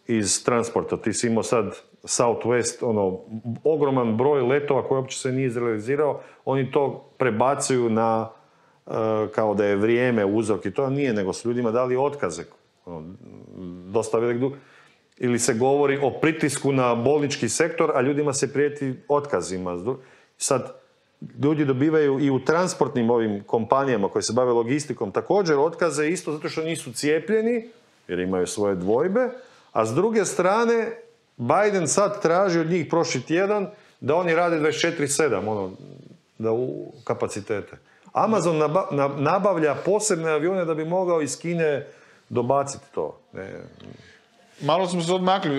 iz transporta. Ti si imao sad Southwest, ogroman broj letova koji uopće se nije izrealizirao, oni to prebacuju na, kao da je vrijeme uzrok i to nije, nego su ljudima dali otkaze. Dosta velik dug. Ili se govori o pritisku na bolnički sektor, a ljudima se prijeti otkazima. Sad, ljudi dobivaju i u transportnim ovim kompanijama koje se bave logistikom također otkaze isto zato što nisu cijepljeni, jer imaju svoje dvojbe, a s druge strane, Biden sad traži od njih prošli tjedan da oni rade 24/7, da u kapacitete. Amazon nabavlja posebne avione da bi mogao iz Kine dobaciti to. Malo smo se odmakli.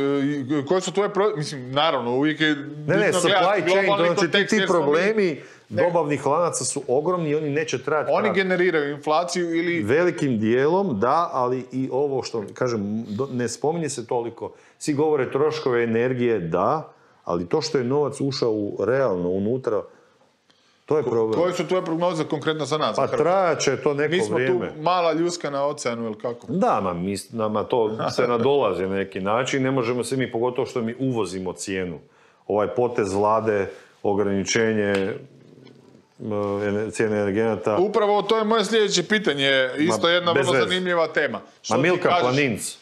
Koji su tvoje mislim, naravno, uvijek je... Supply chain, znači ti problemi dobavnih lanaca su ogromni i oni neće trajati. Oni generiraju inflaciju ili... Velikim dijelom, da, ali i ovo što, kažem, ne spominje se toliko. Svi govore troškove energije, da, ali to što je novac ušao realno unutra, to je problem. Koje su tvoje prognoze konkretno za nas? Pa trajat će to neko vrijeme. Mi smo tu mala ljuska na oceanu, ili kako? Da, nama to se nadolazi na neki način. Ne možemo se mi, pogotovo što mi uvozimo cijenu. Ovaj potez vlade, ograničenje cijene energenata. Upravo to je moje sljedeće pitanje. Isto jedna vrlo zanimljiva tema. Milka Planinc.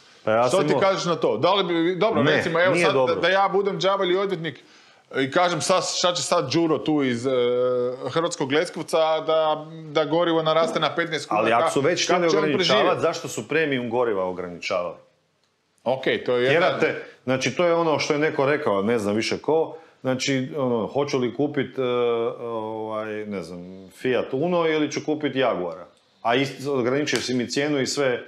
Što ti kažeš na to? Da li bi, dobro, recimo, evo sad da ja budem đavolji ili odvjetnik i kažem šta će sad Đuro tu iz Hrvatskog Leskovca da gorivo naraste na 15 kuna. Ali ako su već htjeli ograničavati, zašto su premium goriva ograničavali? Ok, to je jedna... Znači, to je ono što je neko rekao, ne znam više ko, znači, hoću li kupiti, ne znam, Fiat Uno ili ću kupiti Jaguara. A ograničio si mi cijenu i sve...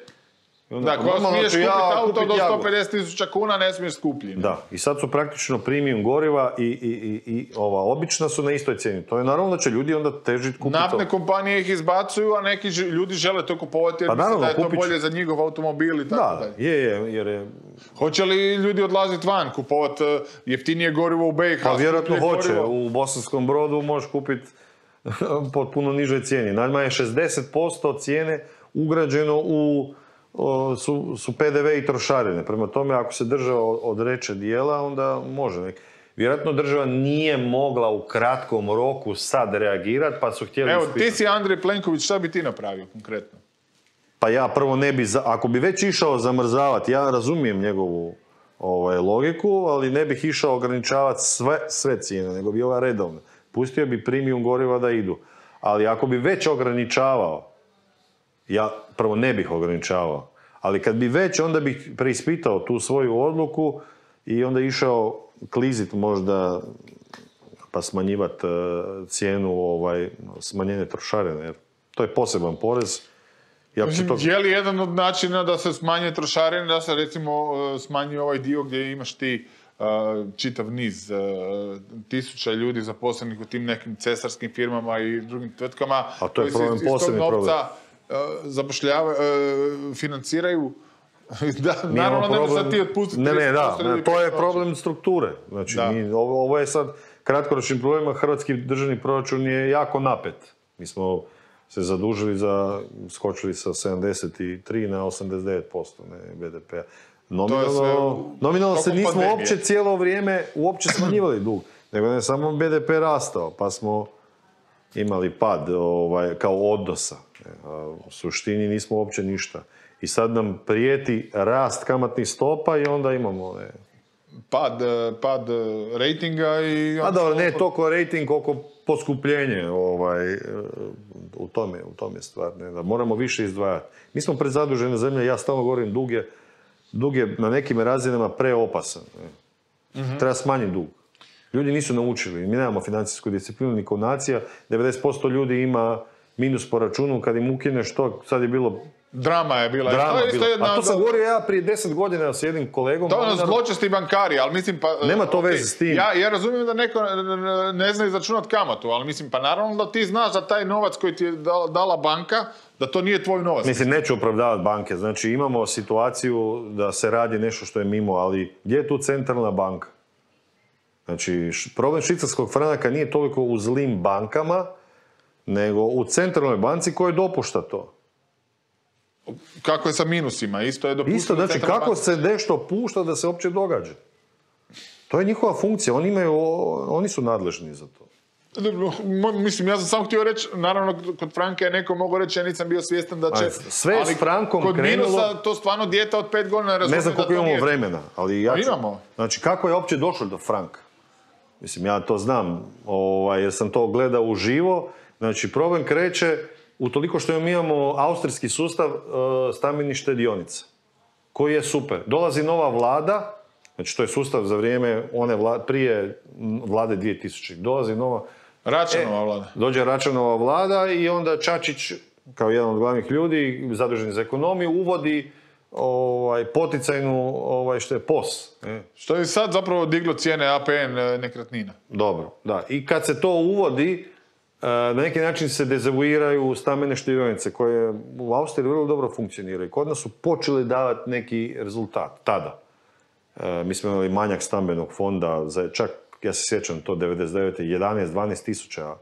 Da, ko smiješ kupiti auto do 150.000 kuna, ne smiješ skuplji. Da, i sad su praktično premium goriva i ova obična su na istoj cijeni. To je naravno da će ljudi onda težiti kupiti to. Naftne kompanije ih izbacuju, a neki ljudi žele to kupovati jer misle da je to bolje za njihov automobil i tako dalje. Da, jer je... Hoće li ljudi odlaziti van, kupovati jeftinije gorivo u BiH? Pa vjerojatno hoće. U Bosanskom Brodu možeš kupiti po puno nižoj cijeni. Najmanje 60% cijene ugrađeno su PDV i trošarine. Prema tome, ako se država odreče dijela, onda može. Vjerojatno država nije mogla u kratkom roku sad reagirati, pa su htjeli ispitati. Evo, ti si Andrej Plenković, šta bi ti napravio konkretno? Pa ja prvo ne bi, ako bi već išao zamrzavati, ja razumijem njegovu logiku, ali ne bih išao ograničavati sve cijene, nego bi ova redovna. Pustio bi premium goriva da idu. Ali ako bi već ograničavao, ja prvo ne bih ograničavao, ali kad bi već, onda bih preispitao tu svoju odluku i onda išao klizit možda, pa smanjivati cijenu smanjenje trošarine, jer to je poseban porez. Je li jedan od načina da se smanje trošarine, da se recimo smanji ovaj dio gdje imaš ti čitav niz tisuća ljudi zaposlenih u tim nekim cesarskim firmama i drugim tvrtkama koji se iz tog novca financiraju. Naravno, ne možeš ti otpustiti. To je problem strukture. Znači, ovo je sad kratkoročnim problemima. Hrvatski državni proračun je jako napet. Mi smo se zadužili skočili sa 73 na 89% BDP-a. Nominalno se tokom nismo pandemije. uopće cijelo vrijeme uopće smanjivali dug, nego ne samo BDP rastao, pa smo imali pad kao odnosa. A u suštini nismo uopće ništa. I sad nam prijeti rast kamatnih stopa i onda imamo Pad rejtinga i... a dobro, ne toliko rejting koliko poskupljenje u tome je stvar. Da moramo više izdvajati. Mi smo prezadužene zemlje, ja stalno govorim, dug je na nekim razinama preopasan. Treba smanjiti dug. Ljudi nisu naučili, mi nemamo financijsku disciplinu ni kao nacija, 90% ljudi ima minus po računu, kad im ukineš to, sad je bilo... Drama je bila. A to sam govorio ja prije 10 godina s jednim kolegom. To je zločesti bankari, ali mislim pa... Nema to veze s tim. Ja razumijem da neko ne zna izračunati kamatu, ali mislim pa naravno da ti znaš da taj novac koji ti je dala banka, da to nije tvoj novac. Mislim, neću opravdavati banke. Znači, imamo situaciju da se radi nešto što je mimo, ali gdje je tu centralna banka? Znači, problem švicarskog franaka nije toliko u zlim bankama, nego u centralnoj banci koja dopušta to. Kako je sa minusima? Isto je dopustilo... Isto, znači, kako se nešto pušta da se uopće događa? To je njihova funkcija. Oni su nadležni za to. Mislim, ja sam samo htio reći, naravno, kod franka je neko mogao reći, ja nisam bio svjestan da će... Sve s frankom kod krenulo... minusa, to stvarno dijete od 5 godina razumije. Ne znam koliko imamo vremena, ali ja ću... Imamo. Znači, kako je uopće došlo do franka? Mislim, ja to znam, jer sam to gledao uživo. Znači, problem kreće utoliko što mi imamo austrijski sustav stambenih štedionica, koji je super. Dolazi nova vlada, znači to je sustav za vrijeme prije vlade 2000. Dolazi nova... Račanova vlada. Dođe Račanova vlada i onda Čačić, kao jedan od glavnih ljudi, zadužen za ekonomiju, uvodi poticajnu, što je POS. Što je sad zapravo diglo cijene APN nekretnina. Dobro, da. I kad se to uvodi, na neki način se dezavuiraju stambene štedionice koje u Austriji vrlo dobro funkcioniraju. Kod nas su počeli davati neki rezultat tada. Mi smo imali manjak stambenog fonda, čak, ja se sjećam to, 99. 11-12 tisuća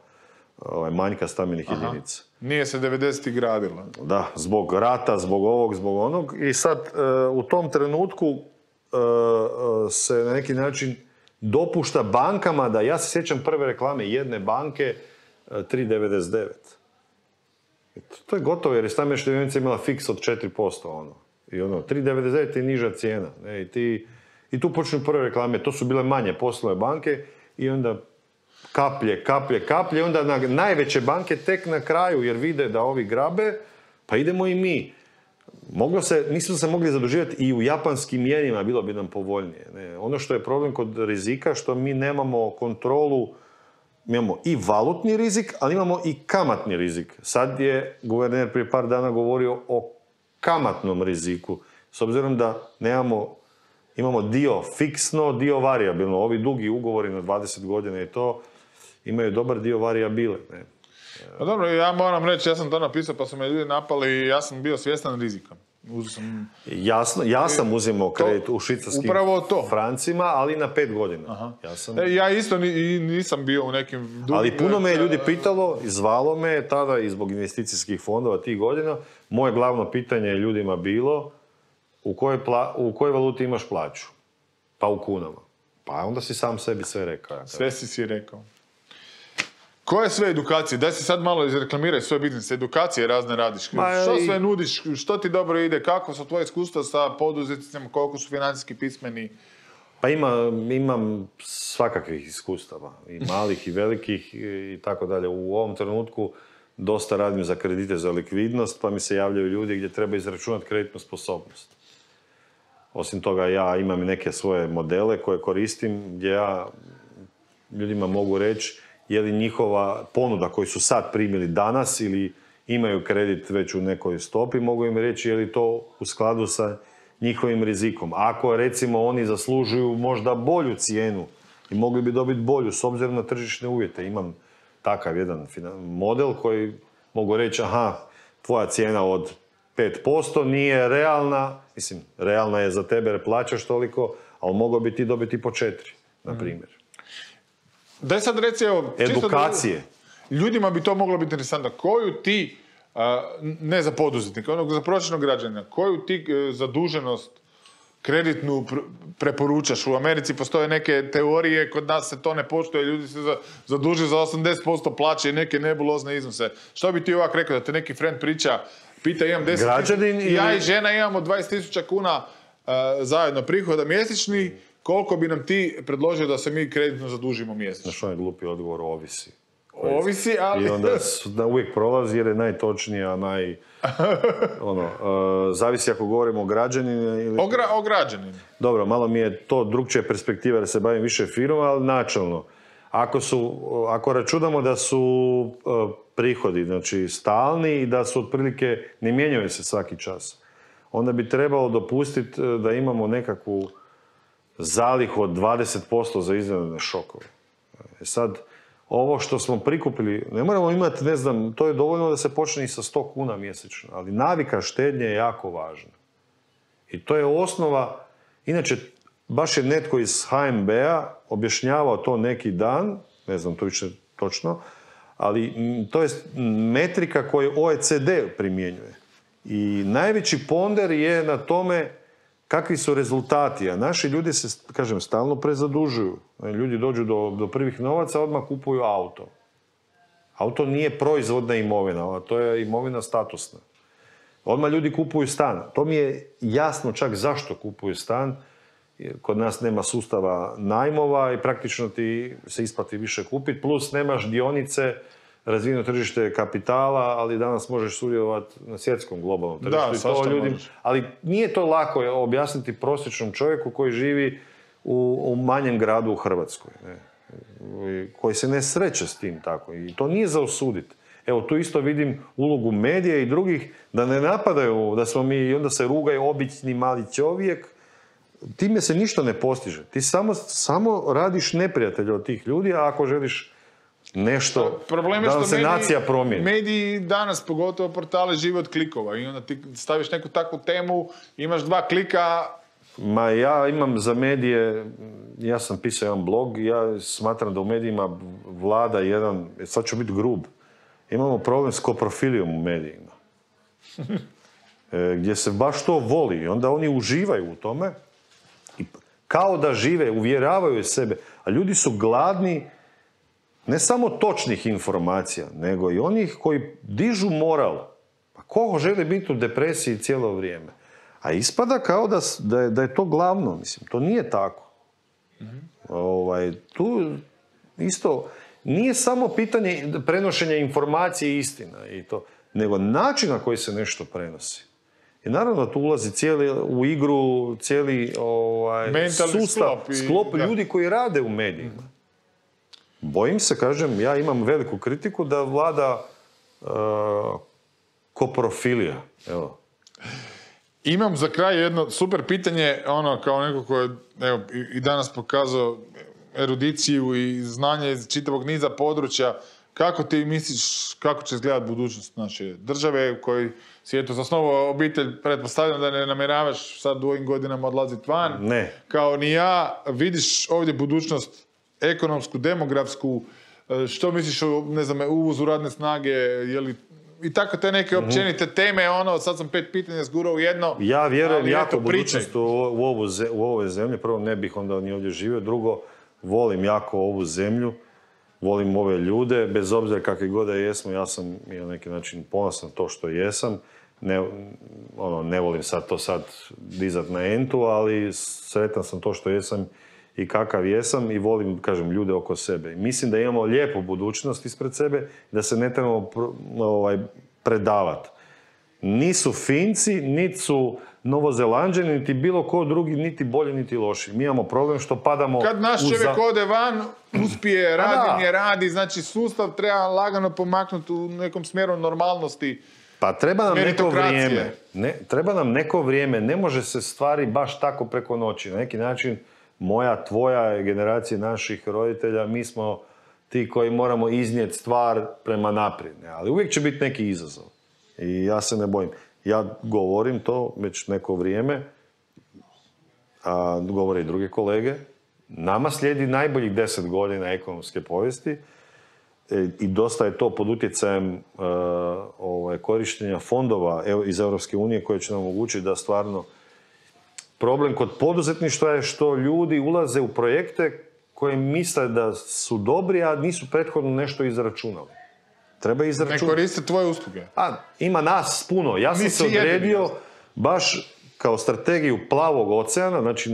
manjka stambenih jedinica. Nije se 90. gradilo. Da, zbog rata, zbog ovog, zbog onog. I sad, u tom trenutku se na neki način dopušta bankama da, ja se sjećam prve reklame jedne banke, 3,99. To je gotovo jer je stambena štedionica imala fiks od 4%. I 3,99 je niža cijena. I tu počnu prve reklame. To su bile manje poslovne banke i onda kaplje. Onda najveće banke tek na kraju jer vide da ovi grabe, pa idemo i mi. Nismo se mogli zaduživati i u japanskim jenima, bilo bi nam povoljnije. Ono što je problem kod rizika, što mi nemamo kontrolu. Mi imamo i valutni rizik, ali imamo i kamatni rizik. Sad je guverner prije par dana govorio o kamatnom riziku. S obzirom da imamo dio fiksno, dio variabilno. Ovi dugi ugovori na 20 godina i to imaju dobar dio variabile. Pa dobro, ja moram reći, ja sam to napisao pa su me ljudi napali i ja sam bio svjestan rizika. Ja sam uzimao kredit u švicarskim francima, ali na 5 godina. Ja isto nisam bio u nekim... Ali puno me je ljudi pitalo, zvalo me tada i zbog investicijskih fondova tih godina. Moje glavno pitanje je ljudima bilo u kojoj valuti imaš plaću? Pa u kunama. Pa onda si sam sebi sve rekao. Sve si rekao. Koje sve edukacije? Daj se sad malo izreklamiraj svoj biznis. Edukacije razne radiš. Što sve nudiš? Što ti dobro ide? Kako su tvoje iskustva sa poduzetnicima? Koliko su financijski pismeni? Pa imam svakakvih iskustava. I malih i velikih i tako dalje. U ovom trenutku dosta radim za kredite za likvidnost, pa mi se javljaju ljudi gdje treba izračunati kreditnu sposobnost. Osim toga, ja imam neke svoje modele koje koristim, gdje ja ljudima mogu reći je li njihova ponuda koju su sad primili danas ili imaju kredit već u nekoj stopi, mogu im reći je li to u skladu sa njihovim rizikom. Ako, recimo, oni zaslužuju možda bolju cijenu i mogli bi dobiti bolju s obzirom na tržišne uvjete. Imam takav jedan model koji mogu reći, tvoja cijena od 5% nije realna, mislim, realna je za tebe jer plaćaš toliko, ali mogao bi ti dobiti po 4, na primjer. Daj sad reci, edukacije. Ljudima bi to moglo biti interesantno. Koju ti, ne za poduzetnika, za prosječnog građanina, koju ti zaduženost kreditnu preporučaš. U Americi postoje neke teorije, kod nas se to ne poštuje, ljudi se zaduže za 80% plaće i neke nebulozne iznose. Što bi ti ovak rekao, da te neki friend priča, pita imam 10 Građanin ili... Ja i žena imamo 20.000 kuna zajedno prihoda mjesečni, koliko bi nam ti predložio da se mi kreditno zadužimo mjesečno? Znaš, on je glupi odgovor, ovisi. Ovisi, ali... I onda uvijek prolazi jer je najtočnija, zavisi ako govorimo o građaninu ili... O građaninu. Dobro, malo mi je to drugčija perspektiva jer se bavim više firmom, ali načelno. Ako računamo da su prihodi, znači stalni i da su otprilike, ne mijenjaju se svaki čas, onda bi trebalo dopustiti da imamo nekakvu zalihu od 20% za iznenadne šokove. Sad, ovo što smo prikupili, ne moramo imati, ne znam, to je dovoljno da se počne i sa 100 kuna mjesečno, ali navika štednje je jako važna. I to je osnova, inače, baš je netko iz HNB-a objašnjavao to neki dan, ne znam to više točno, ali to je metrika koju OECD primjenjuje. I najveći ponder je na tome kakvi su rezultati, a naši ljudi se, kažem, stalno prezadužuju. Ljudi dođu do prvih novaca, odmah kupuju auto. Auto nije proizvodna imovina, to je imovina statusna. Odmah ljudi kupuju stan. To mi je jasno čak zašto kupuju stan. Kod nas nema sustava najmova i praktično ti se isplati više kupiti, plus nemaš dionice, razvijeno tržište kapitala, ali danas možeš sudjelovati na svjetskom globalnom tržištu. Da, ali nije to lako objasniti prosječnom čovjeku koji živi u manjem gradu u Hrvatskoj, ne? Koji se ne sreće s tim tako. I to nije za osuditi. Evo, tu isto vidim ulogu medija i drugih da ne napadaju, da smo mi, i onda se rugaju obični mali čovjek. Time se ništa ne postiže. Ti samo radiš neprijatelja od tih ljudi, a ako želiš nešto da nam se nacija promijeni. Mediji danas, pogotovo portale, žive od klikova i onda ti staviš neku takvu temu, imaš 2 klika. Ma ja imam za medije, ja sam pisao jedan blog, ja smatram da u medijima vlada jedan, sad ću biti grub, imamo problem s koprofilijom u medijima. Gdje se baš to voli i onda oni uživaju u tome i kao da žive, uvjeravaju sebe, a ljudi su gladni ne samo točnih informacija, nego i onih koji dižu moral. Pa ko želi biti u depresiji cijelo vrijeme? A ispada kao da je to glavno, mislim. To nije tako. Tu isto nije samo pitanje prenošenja informacije i istina, nego način na koji se nešto prenosi. I naravno tu ulazi u igru cijeli sustav, sklop ljudi koji rade u medijima. Bojim se, kažem, ja imam veliku kritiku da vlada koprofilija. Evo. Imam za kraj jedno super pitanje, kao neko ko je i danas pokazao erudiciju i znanje iz čitavog niza područja. Kako ti misliš, kako će izgledati budućnost naše države u kojoj si zasnovao obitelj, pretpostavljam da ne namjeravaš sad u ovim godinama odlaziti van? Ne. Kao ni ja, vidiš ovdje budućnost ekonomsku, demografsku, što misliš o, ne znam, uvozu radne snage, je li i tako te neke općenite teme, sad sam 5 pitanja zgurao u jedno. Ja vjerujem jako budućnost u ovoj zemlji. Prvo, ne bih onda ni ovdje živio. Drugo, volim jako ovu zemlju. Volim ove ljude. Bez obzira kakvi god da jesmo, ja sam na neki način ponosan to što jesam. Ne volim to dizat na entu, ali sretan sam to što jesam i kakav jesam i volim, kažem, ljude oko sebe. I mislim da imamo lijepu budućnost ispred sebe, da se ne trebamo predavati. Nisu Finci, niti su Novozelanđani, niti bilo ko drugi, niti bolji, niti loši. Mi imamo problem što padamo... Kad naš čovjek ode van, uspije, radi, znači sustav treba lagano pomaknuti u nekom smjeru normalnosti. Pa treba nam neko vrijeme. Treba nam neko vrijeme. Ne može se stvari baš tako preko noći. Na neki način moja, tvoja generacija naših roditelja, mi smo ti koji moramo iznijeti stvar prema naprijed. Ali uvijek će biti neki izazov. I ja se ne bojim. Ja govorim to već neko vrijeme, a govore i druge kolege. Nama slijedi najboljih 10 godina ekonomske povijesti i dosta je to pod utjecajem korištenja fondova iz Europske unije koje će nam omogućiti da stvarno problem kod poduzetništva je što ljudi ulaze u projekte koje misle da su dobri, a nisu prethodno nešto izračunali. Treba Ne izračunati. koriste tvoje usluge. Ima nas puno. Ja sam Mi se svi jedini, odredio jasno. baš kao strategiju plavog oceana, znači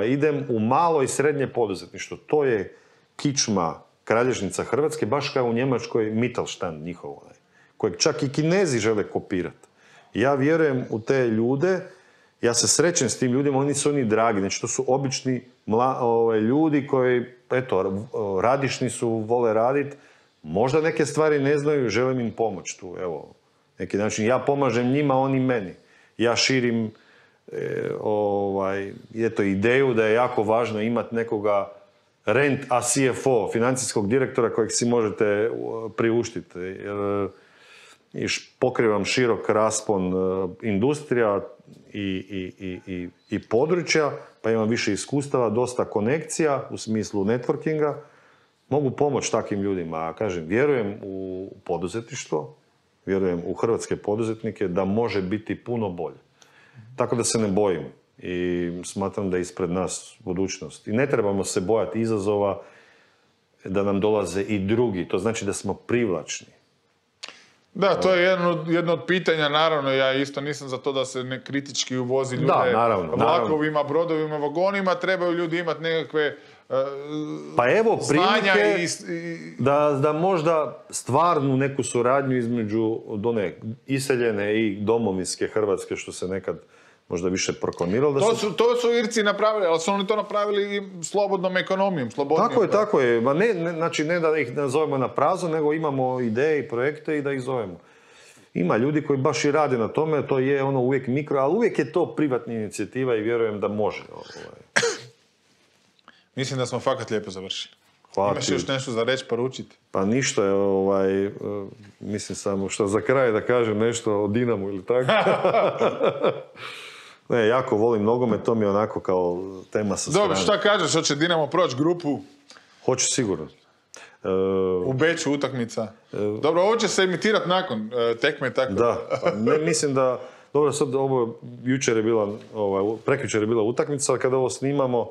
idem u malo i srednje poduzetništvo. To je kičma, kralježnica Hrvatske, baš kao u Njemačkoj Mittelstand njihov, kojeg čak i Kinezi žele kopirati. Ja vjerujem u te ljude, ja se srećem s tim ljudima, oni su dragi, znači to su obični ljudi koji, radišni su, vole raditi, možda neke stvari ne znaju, želim im pomoći tu, evo, neki način. Ja pomažem njima, oni meni. Ja širim ideju da je jako važno imati nekoga a CFO, financijskog direktora kojeg si možete priuštiti. Jer pokrivam širok raspon industrija i područja, pa imam više iskustava, dosta konekcija u smislu networkinga. Mogu pomoći takvim ljudima. A kažem, vjerujem u poduzetništvo, vjerujem u hrvatske poduzetnike da može biti puno bolje. Tako da se ne bojim i smatram da je ispred nas budućnost. I ne trebamo se bojati izazova da nam dolaze i drugi. To znači da smo privlačni. Da, to je jedno od pitanja, naravno, ja isto nisam za to da se ne kritički uvozi ljude vlakovima, brodovima, vagonima, trebaju ljudi imati nekakve pa evo prilike i da možda stvarnu neku suradnju između iseljene i domovinske Hrvatske, što se nekad možda više proklamiralo. To su Irci napravili, ali su oni to napravili i slobodnom ekonomijom, slobodnijom. Tako je. Znači, ne da ih nazovemo na prazno, nego imamo ideje i projekte i da ih zovemo. Ima ljudi koji baš i rade na tome, to je uvijek mikro, ali uvijek je to privatna inicijativa i vjerujem da može. Mislim da smo fakat lijepo završili. Hvala. Imaš još nešto za reći, poručiti? Pa ništa, mislim samo što za kraj da kažem nešto o Dinamu ili tako. Ne, jako volim nogomet, to mi je onako kao tema sa strane. Dobro, šta kažeš, hoće Dinamo proći grupu? Hoće sigurno. U Beču utakmica. Dobro, ovo će se emitirati nakon tekme, tako? Da, mislim da, dobro, sad ovo jučer je bila, prekjučer je bila utakmica, ali kada ovo snimamo,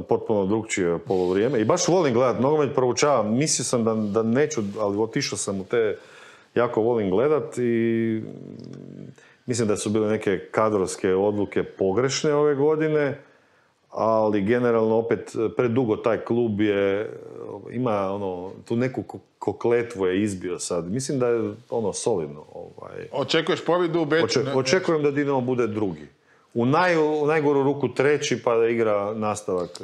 potpuno drugčije polovrijeme. I baš volim gledati nogomet, proučavam. Mislio sam da neću, ali otišao sam u te, jako volim gledati i mislim da su bile neke kadrovske odluke pogrešne ove godine, ali generalno opet predugo taj klub ima tu neku kokletvu je izbio sad. Mislim da je solidno. Očekuješ pobjedu u Beču? Očekujem da Dinamo bude drugi. U najgoru ruku treći, pa da igra nastavak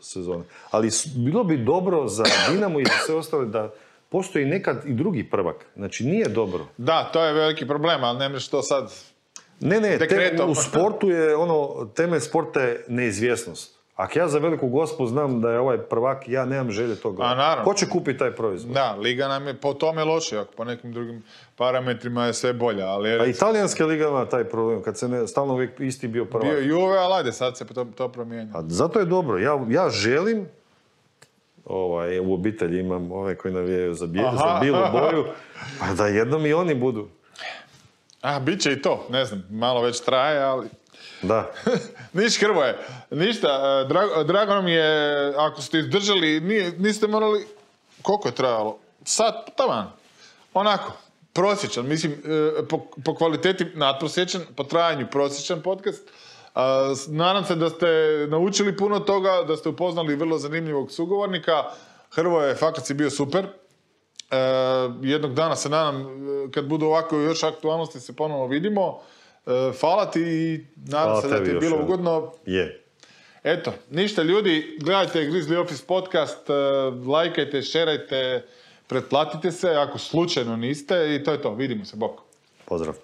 sezone. Ali bilo bi dobro za Dinamo i za sve ostale da postoji nekad i drugi prvak. Znači, nije dobro. Da, to je veliki problem, ali ne možeš to sad dekretom. U sportu je temelj sporta je neizvjesnost. Ako ja za veliku gospu znam da je ovaj prvak, ja nemam želje toga. A naravno. Ko će kupiti taj proizvod? Da, liga nam je po tome loše, ako po nekim drugim parametrima je sve bolja. Ali a italijanska liga ima taj problem, kad se stalno uvijek isti bio prvak. Bio Juve, ali ajde, sad se to promijenja. A zato je dobro. Ja želim, u obitelji imam ove koji navijaju za bilu boju, pa da jednom i oni budu. Bit će i to, ne znam, malo već traje, ali... Da. Niš, Hrvoje, ništa, drago nam je, ako ste izdržali, niste morali, koliko je trajalo? Sat, taman, onako, prosječan, mislim, po kvaliteti nadprosječan, po trajanju prosječan podcast. Nadam se da ste naučili puno toga, da ste upoznali vrlo zanimljivog sugovornika. Hrvoje, fakat si bio super. Jednog dana se nadam, kad budu ovako još aktualnosti, se ponovno vidimo. Hvala ti i nadam se da ti je bilo ugodno. Je. Eto, ništa ljudi, gledajte Grizzly Office podcast, lajkajte, šerajte, pretplatite se ako slučajno niste i to je to. Vidimo se, bok. Pozdrav.